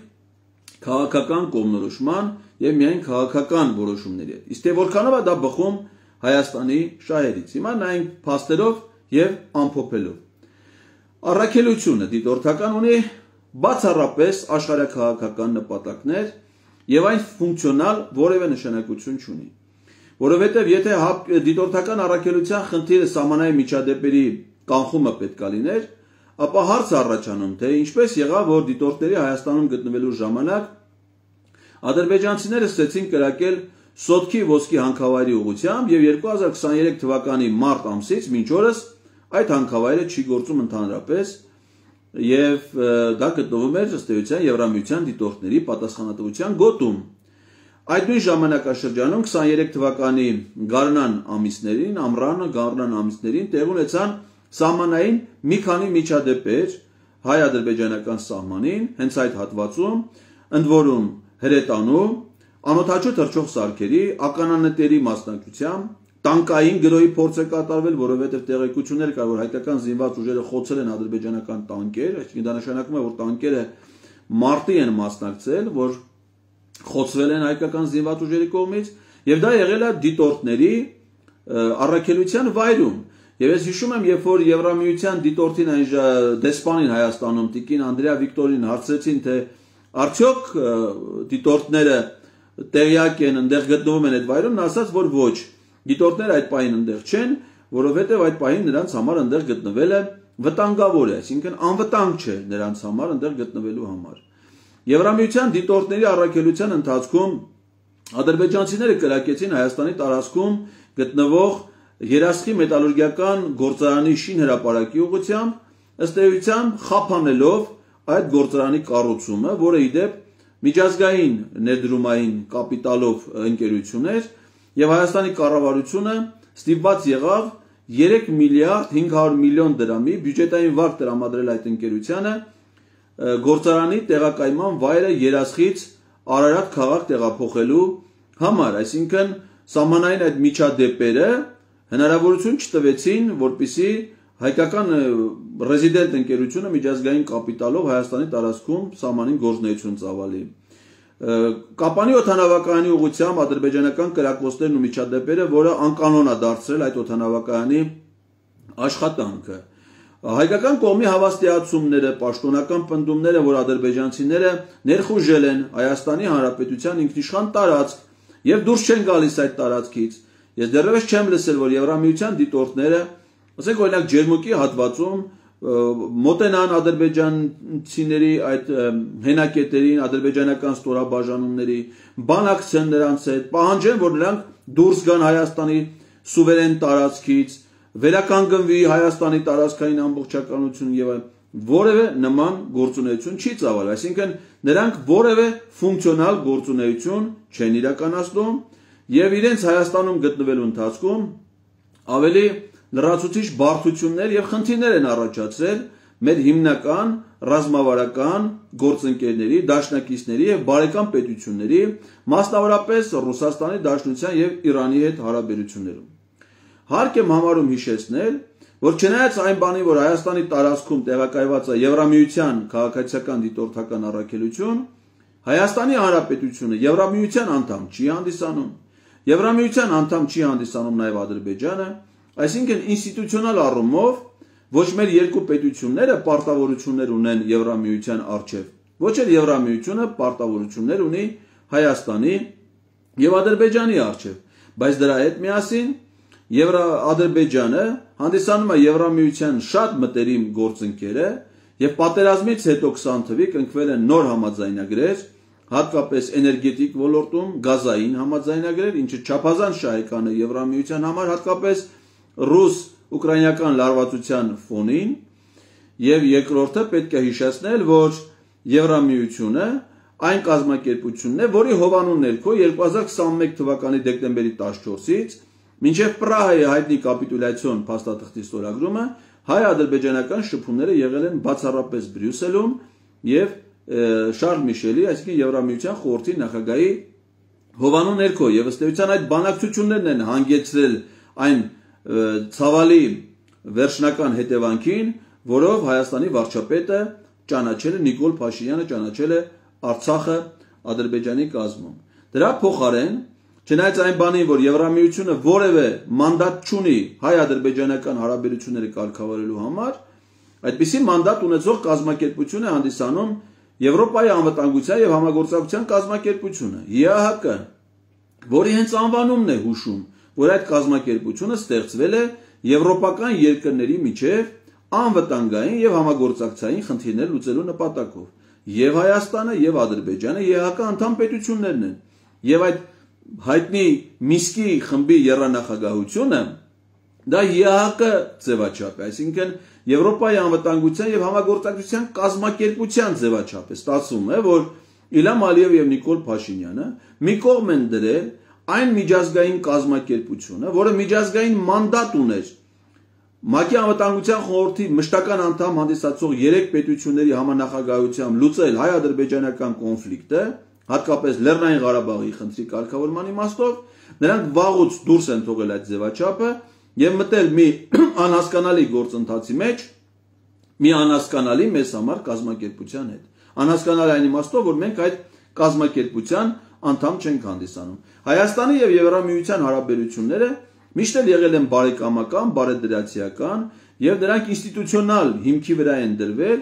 քաղաքական կողմնորոշման եւ միայն քաղաքական որոշումների հետ։ Իսկ թե որքանով է դա բխում Հայաստանի շահերից։ Հիմա նայենք փաստերով եւ ամփոփելով։ Առաքելությունը դիտորդական ունի բացառապես աշխարհաքաղաքական նպատակներ եւ այն ֆունկցիոնալ որևէ նշանակություն չունի։ Որովհետեւ եթե դիտորդական առաքելության խնդիրը սահմանային միջադեպերի կանխումը պետք է լիներ, ապա հարց առաջանում, թե ինչպես եղավ, որ դիտորդների Հայաստանում գտնվելու ժամանակ ադրբեջանցիները սկսեցին կրակել Սոտքի ոսկի հանքավայրի ուղղությամբ եւ երկու հազար քսաներեք թվականի մարտ ամսից մինչ օրս այդ հանքավայրը չի գործում ընդհանրապես եւ դա գտնվում էր ըստ էության Եվրամիության դիտորդների պատասխանատվության գոտում։ Այդ նույն ժամանակաշրջանում քսաներեք թվականի գարնան ամիսներին, ամռանը գարնան ամիսներին տեղ ունեցան սահմանային մի քանի միջադեպեր հայ-ադրբեջանական սահմանին, հենց այդ հատվածում, ընդ որում հրետանու, անօդաչու թռչող սարքերի, ականանետերի մասնակցությամբ, տանկային գրոհի փորձ է կատարվել, որովհետև տեղեկություններ կար, որ հայկական զինված ուժերը խոցել են ադրբեջանական տանկեր, այսինքն դա նշանակում է, որ տանկերը մարտի են մասնակցել, որ խոցվել են հայկական զինված ուժերի կողմից, Եվ դա եղել է դիտորդների առաքելության վայրում։ Եվ ես հիշում եմ, երբ որ Եվրամիության դիտորդին այն դեսպանին Հայաստանում Տիկին Անդրեա Վիկտորին հարցրեցին, թե արդյոք դիտորդները տեղյակ են, այնտեղ գտնվում են այդ վայրում, նա ասաց, որ ոչ, դիտորդները այդ պահին այնտեղ չեն, որովհետև այդ պահին նրանց համար այնտեղ գտնվելը վտանգավոր է, այսինքն անվտանգ չէ նրանց համար այնտեղ գտնվելու համար։ Եվրամիության դիտորդների առաքելության ընթացքում ադրբեջանցիները կրակեցին Հայաստանի տարածքում գտնվող Երասխի մետալուրգիական գործարանի շինհրապարակի ուղղությամբ, ըստ էության խափանելով այդ գործարանի կառուցումը, որը ի դեպ միջազգային ներդրումային կապիտալով ընկերություն էր, եւ Հայաստանի կառավարությունը ստիպված եղավ երեք միլիարդ հինգ հարյուր միլիոն դրամի բյուջետային վարկ տրամադրել այդ ընկերությանը գործարանի տեղակայման վայրը Երասխից Արարատ քաղաք տեղափոխելու համար, այսինքն սահմանային այդ միջադեպերը հնարավորություն չտվեցին, որպեսզի հայկական ռեզիդենտ ընկերությունը միջազգային կապիտալով Հայաստանի տարածքում սահմանին գործունեություն ծավալի։ Կապանի օդանավակայանի ուղղությամբ ադրբեջանական կրակոցներն ու միջադեպերը, որը անկանոն է դարձրել այդ օդանավակայանի աշխատանքը։ Հայկական կողմի հավաստիացումները, պաշտոնական պնդումները, որ ադրբեջանցիները ներխուժել են Հայաստանի Հանրապետության ինքնիշխան տարածք եւ դուրս չեն գալիս այդ տարածքից։ Ես դեռևս չեմ լսել, որ Եվրամիության դիտորդները, ասենք օրինակ Ջերմուկի հատվածում մոտենան ադրբեջանցիների այդ հենակետերին, ադրբեջանական ստորաբաժանումների, բանակցեն նրանց հետ, պահանջեն, որ նրանք դուրս գան Հայաստանի սուվերեն տարածքից, վերականգնվի Հայաստանի տարածքային ամբողջականություն եւ որևէ նման գործունեություն չի ծավալվել, այսինքն նրանք որևէ ֆունկցիոնալ գործունեություն չեն իրականացնում եւ իրենց Հայաստանում գտնվելու ընթացքում ավելի լրացուցիչ բարդություններ եւ խնդիրներ են առաջացրել մեր հիմնական ռազմավարական գործընկերների, դաշնակիցների եւ բարեկամ պետությունների, մասնավորապես Ռուսաստանի Դաշնության եւ Իրանի հետ հարաբերություններում։ Հարկ եմ համարում հիշեցնել, որ չնայած այն բանի, որ Հայաստանի տարածքում տեղակայված է Եվրամիության քաղաքացիական դիտորդական առաքելություն, Հայաստանի Հանրապետությունը Եվրամիության անդամ չի հանդիսանում, Եվրամիության անդամ չի հանդիսանում նաև Ադրբեջանը, այսինքն ինստիտուցիոնալ առումով ոչ մեր երկու պետությունները պարտավորություններ ունեն Եվրամիության առջև, ոչ էլ Եվրամիությունը պարտավորություններ ունի Հայաստանի եւ Ադրբեջանի առջև, բայց դրա հետ միասին Եվրա-Ադրբեջանը հանդիսանում է Եվրամիության շատ մտերիմ գործընկերը եւ պատերազմից հետո քսան թվականի կնքվել են նոր համաձայնագրեր, հատկապես էներգետիկ ոլորտում գազային համաձայնագրեր, ինչը չափազանց շահեկան է Եվրամիության համար, հատկապես ռուս-ուկրաինական լարվածության ֆոնին, եւ երկրորդը պետք է հիշեցնել, որ Եվրամիությունը այն կազմակերպությունն է, որի հովանու ներքո երկու հազար քսանմեկ թվականի դեկտեմբերի տասնչորսից մինչև Պրահայի հայտնի կապիտուլյացիոն փաստաթղթի ստորագրումը հայ-ադրբեջանական շփումները եղել են բացառապես Բրյուսելում եւ Շարլ Միշելի, այսինքն Եվրամիության խորհրդի նախագահի հովանու ներքո, եւ ըստ էության այդ բանակցություններն են հանգեցրել այն ցավալի վերջնական հետևանքին, որով Հայաստանի վարչապետը ճանաչել է Նիկոլ Փաշինյանը ճանաչել է Արցախը Ադրբեջանի կազմում։ Դրա փոխարեն, չնայած այն բանին, որ Եվրամիությունը որևէ մանդատ չունի հայ-ադրբեջանական հարաբերությունները կարգավորելու համար, այդպիսի մանդատ ունեցող կազմակերպություն է հանդիսանում Եվրոպայի անվտանգության եւ համագործակցության կազմակերպությունը ԵԱՀԿ, որի հենց անվանումն է հուշում, որ այդ կազմակերպությունը ստեղծվել է եվրոպական երկրների միջև անվտանգային եւ համագործակցային խնդիրներ լուծելու նպատակով։ Եվ Հայաստանը եւ Ադրբեջանը ԵԱՀԿ անդամ պետություններն են, եւ այդ հայտնի Միսկի խմբի եռանախագահությունը դա ԵԱՀԿ ձևաչափ է, այսինքն Եվրոպայի անվտանգության եւ համագործակցության կազմակերպության ձևաչափ է, ստացվում է, որ Իլհամ Ալիև եւ Նիկոլ Փաշինյանը մի կողմ են դրել այն միջազգային կազմակերպությունը, որը միջազգային մանդատ ուներ ՄԱԿ-ի անվտանգության խորհրդի մշտական անդամ հանդիսացող երեք պետությունների համանախագահությամբ լուծել հայ-ադրբեջանական կոնֆլիկտը, հատկապես Լեռնային Ղարաբաղի խնդրի կարգավորման իմաստով, նրանք վաղուց դուրս են թողել այդ ձևաչափը եւ մտել մի անհասկանալի գործընթացի մեջ, մի անհասկանալի մեզ համար կազմակերպության հետ։ Անհասկանալի այն իմաստով, որ մենք այդ կազմակերպության անդամ չենք հանդիսանում։ Հայաստանի եւ Եվրամիության հարաբերությունները միշտ էլ եղել են բարեկամական, բարեդրացիական եւ դրանք ինստիտուցիոնալ հիմքի վրա են դրվել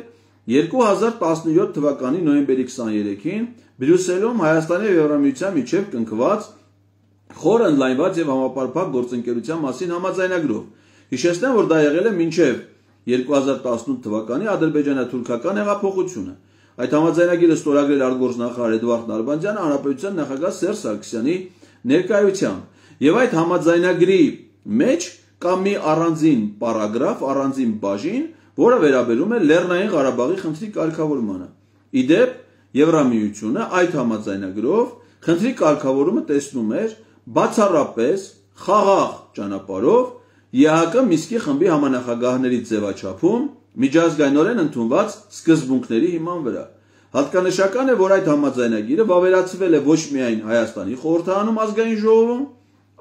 երկու հազար տասնյոթ թվականի նոյեմբերի քսաներեքին Բրյուսելում Հայաստանի եւ Եվրամիության միջև կնքված խոր ընդլայնված եւ համապարփակ գործընկերության մասին համաձայնագրով։ Հիշեցնեմ, որ դա եղել է մինչև երկու հազար տասնութ թվականի ադրբեջանա-թուրքական հեղափոխությունը։ Այդ համաձայնագիրը ստորագրել արտգործնախարար Էդվարդ Նալբանդյանը հանրապետության նախագահ Սերժ Սարգսյանի ներկայությամբ։ Եվ այդ համաձայնագրի մեջ կա մի առանձին պարագրաֆ, առանձին բաժին, որը վերաբերում է Լեռնային Ղարաբաղի խնդրի կարգավորմանը։ Իդեպ Եվրամիությունը այդ համաձայնագրով խնդրի կարգավորումը տեսնում էր բացառապես խաղաղ ճանապարհով ԵԱՀԿ Մինսկի խմբի համանախագահների ձևաչափում միջազգայինորեն ընդունված սկզբունքների հիման վրա։ Հատկանշական է, որ այդ համաձայնագիրը վավերացվել է ոչ միայն Հայաստանի խորհրդարանում ազգային ժողովում,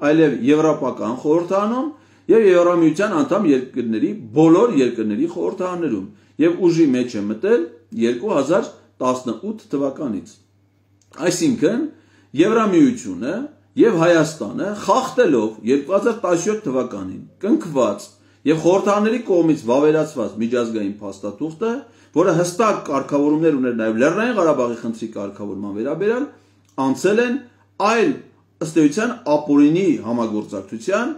այլև Եվրոպական խորհրդարանում եւ Եվրամիության անդամ երկրների բոլոր երկրների խորհրդարաններում եւ ուժի մեջ է մտել երկու հազար տասնութ թվականից։ Այսինքն Եվրամիությունը եւ Հայաստանը խախտելով երկու հազար տասնյոթ թվականին կնքված եւ խորհրդարանների կողմից վավերացված միջազգային փաստաթուղթը, որը հստակ կարգավորումներ ուներ նաեւ Լեռնային Ղարաբաղի խնդրի կարգավորման վերաբերյալ, անցել են այլ ըստ էության ապօրինի համագործակցության,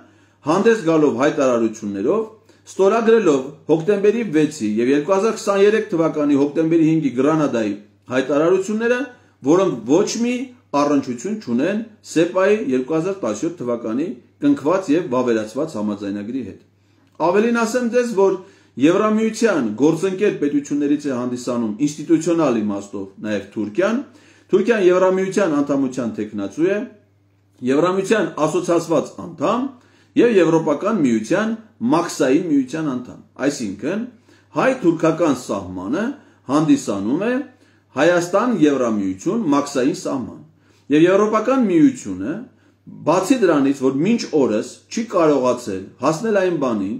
հանդես գալով հայտարարություններով, ստորագրելով հոկտեմբերի վեցի եւ երկու հազար քսաներեք թվականի հոկտեմբերի հինգի Գրանադայի հայտարարությունները, որոնք ոչ մի առնչություն չունեն սեպայի երկու հազար տասնյոթ թվականի կնքված եւ վավերացված համաձայնագրի հետ։ Ավելին ասեմ ձեզ, որ Եվրամիության գործընկեր պետություններից է հանդիսանում ինստիտուցիոնալ իմաստով նաեւ Թուրքիան։ Թուրքիան Եվրամիության անդամության թեկնածու է, Եվրամիության ասոցիացված անդամ եւ Եվրոպական միության մաքսային միության անդամ։ Այսինքն հայ-թուրքական սահմանը հանդիսանում է Հայաստան-Եվրամիություն մաքսային սահման։ Եվ Եվրոպական միությունը բացի դրանից, որ մինչ օրս չի կարողացել հասնել այն բանին,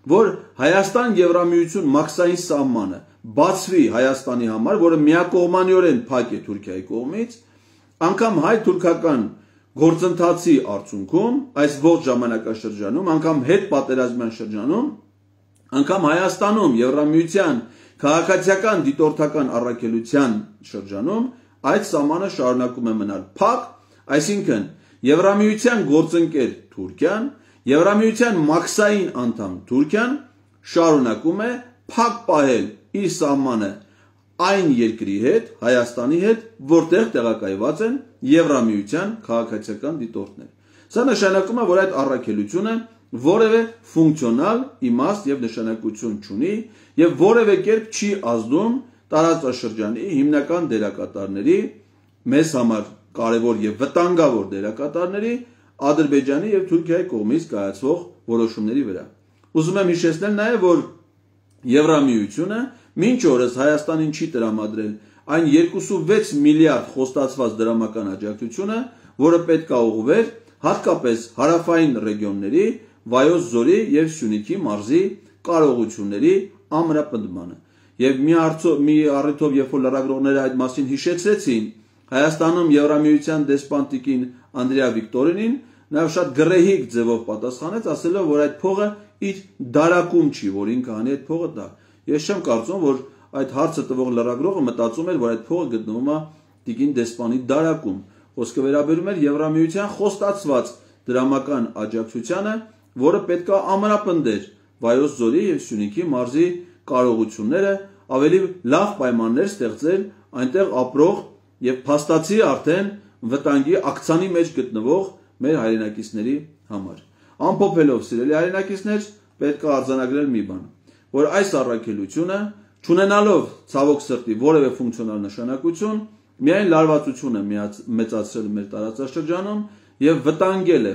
որ Հայաստան-Եվրամիություն մաքսային սահմանը բացվի Հայաստանի համար, որը միակողմանիորեն փակ է Թուրքիայի կողմից, անգամ հայ-թուրքական գործընթացի արդյունքում, այս ողջ ժամանակաշրջանում, անգամ հետպատերազմյան շրջանում, անգամ Հայաստանում Եվրամիության քաղաքացիական դիտորդական առաքելության շրջանում այդ սահմանը շարունակում է մնալ փակ, այսինքն Եվրամիության գործընկեր Թուրքիան, Եվրամիության մաքսային անդամ Թուրքիան շարունակում է փակ պահել իր սահմանը այն երկրի հետ, Հայաստանի հետ, որտեղ տեղակայված են Եվրամիության քաղաքացիական դիտորդներ։ Սա նշանակում է, որ այդ առաքելությունը որևէ ֆունկցիոնալ իմաստ եւ նշանակություն չունի եւ որևէ կերպ չի ազդում տարածաշրջանի հիմնական դերակատարների, մեզ համար կարևոր եւ վտանգավոր դերակատարների Ադրբեջանի եւ Թուրքիայի կողմից կայացվող որոշումների վրա։ Ուզում եմ հիշեցնել նաեւ, որ Եվրամիությունը մինչ օրս Հայաստանին չի տրամադրել այն երկուսունվեց միլիարդ խոստացված դրամական աջակցությունը, որը պետք է ուղղվեր հատկապես հարավային ռեգիոնների Վայոց ձորի եւ Սյունիքի մարզի կարողությունների ամրապնդմանը։ Եվ մի առիթով մի առիթով երբ որ լրագրողները այդ մասին հիշեցրեցին Հայաստանում Եվրամիության դեսպան տիկին Անդրեա Վիկտորինին, նա շատ գրեհիկ ձևով պատասխանեց, ասելով, որ այդ փողը իր դարակում չի, որ ինքը անի այդ փողը դա։ Ես չեմ կարծում, որ այդ հարցը տվող լրագրողը մտածում էր, որ այդ փողը գտնվում է տիկին դեսպանի դարակում։ Խոսքը վերաբերում էր Եվրամիության խոստացված դրամական աջակցությանը, որը պետք է ամրապնդեր Վայոց ձորի եւ Սյունիքի մարզի կարողությունները, ավելի լավ պայմաններ ստեղծել այնտեղ ապրող եւ փաստացի արդեն վտանգի ակցանի մեջ գտնվող մեր հայրենակիցների համար։ Ամփոփելով, սիրելի հայրենակիցներ, պետք է արձանագրել մի բան, որ այս առաքելությունը, չունենալով ցավոք սրտի որևէ ֆունկցիոնալ նշանակություն, միայն լարվածություն է մեծացրել մեր տարածաշրջանում եւ վտանգել է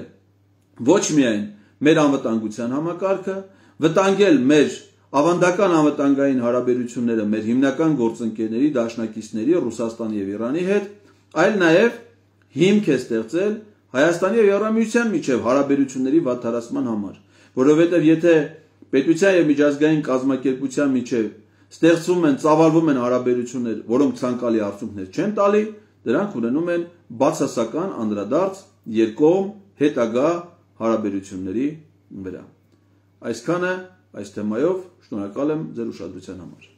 ոչ միայն մեր անվտանգության համակարգը, վտանգել մեր ավանդական անվտանգային հարաբերությունները մեր հիմնական գործընկերների, դաշնակիցների Ռուսաստանի եւ Իրանի հետ, այլ նաեւ հիմք է ստեղծել Հայաստանի եւ Եվրամիության միջև հարաբերությունների վատթարացման համար, որովհետեւ եթե պետության եւ միջազգային կազմակերպության միջև ստեղծվում են, ծավալվում են հարաբերություններ, որոնք ցանկալի արդյունքներ չեն տալի, դրանք ունենում են բացասական անդրադարձ երկկողմ հետագա հարաբերությունների վրա։ Այսքանը այս թեմայով շնորհակալ եմ ձեր ուշադրության համար։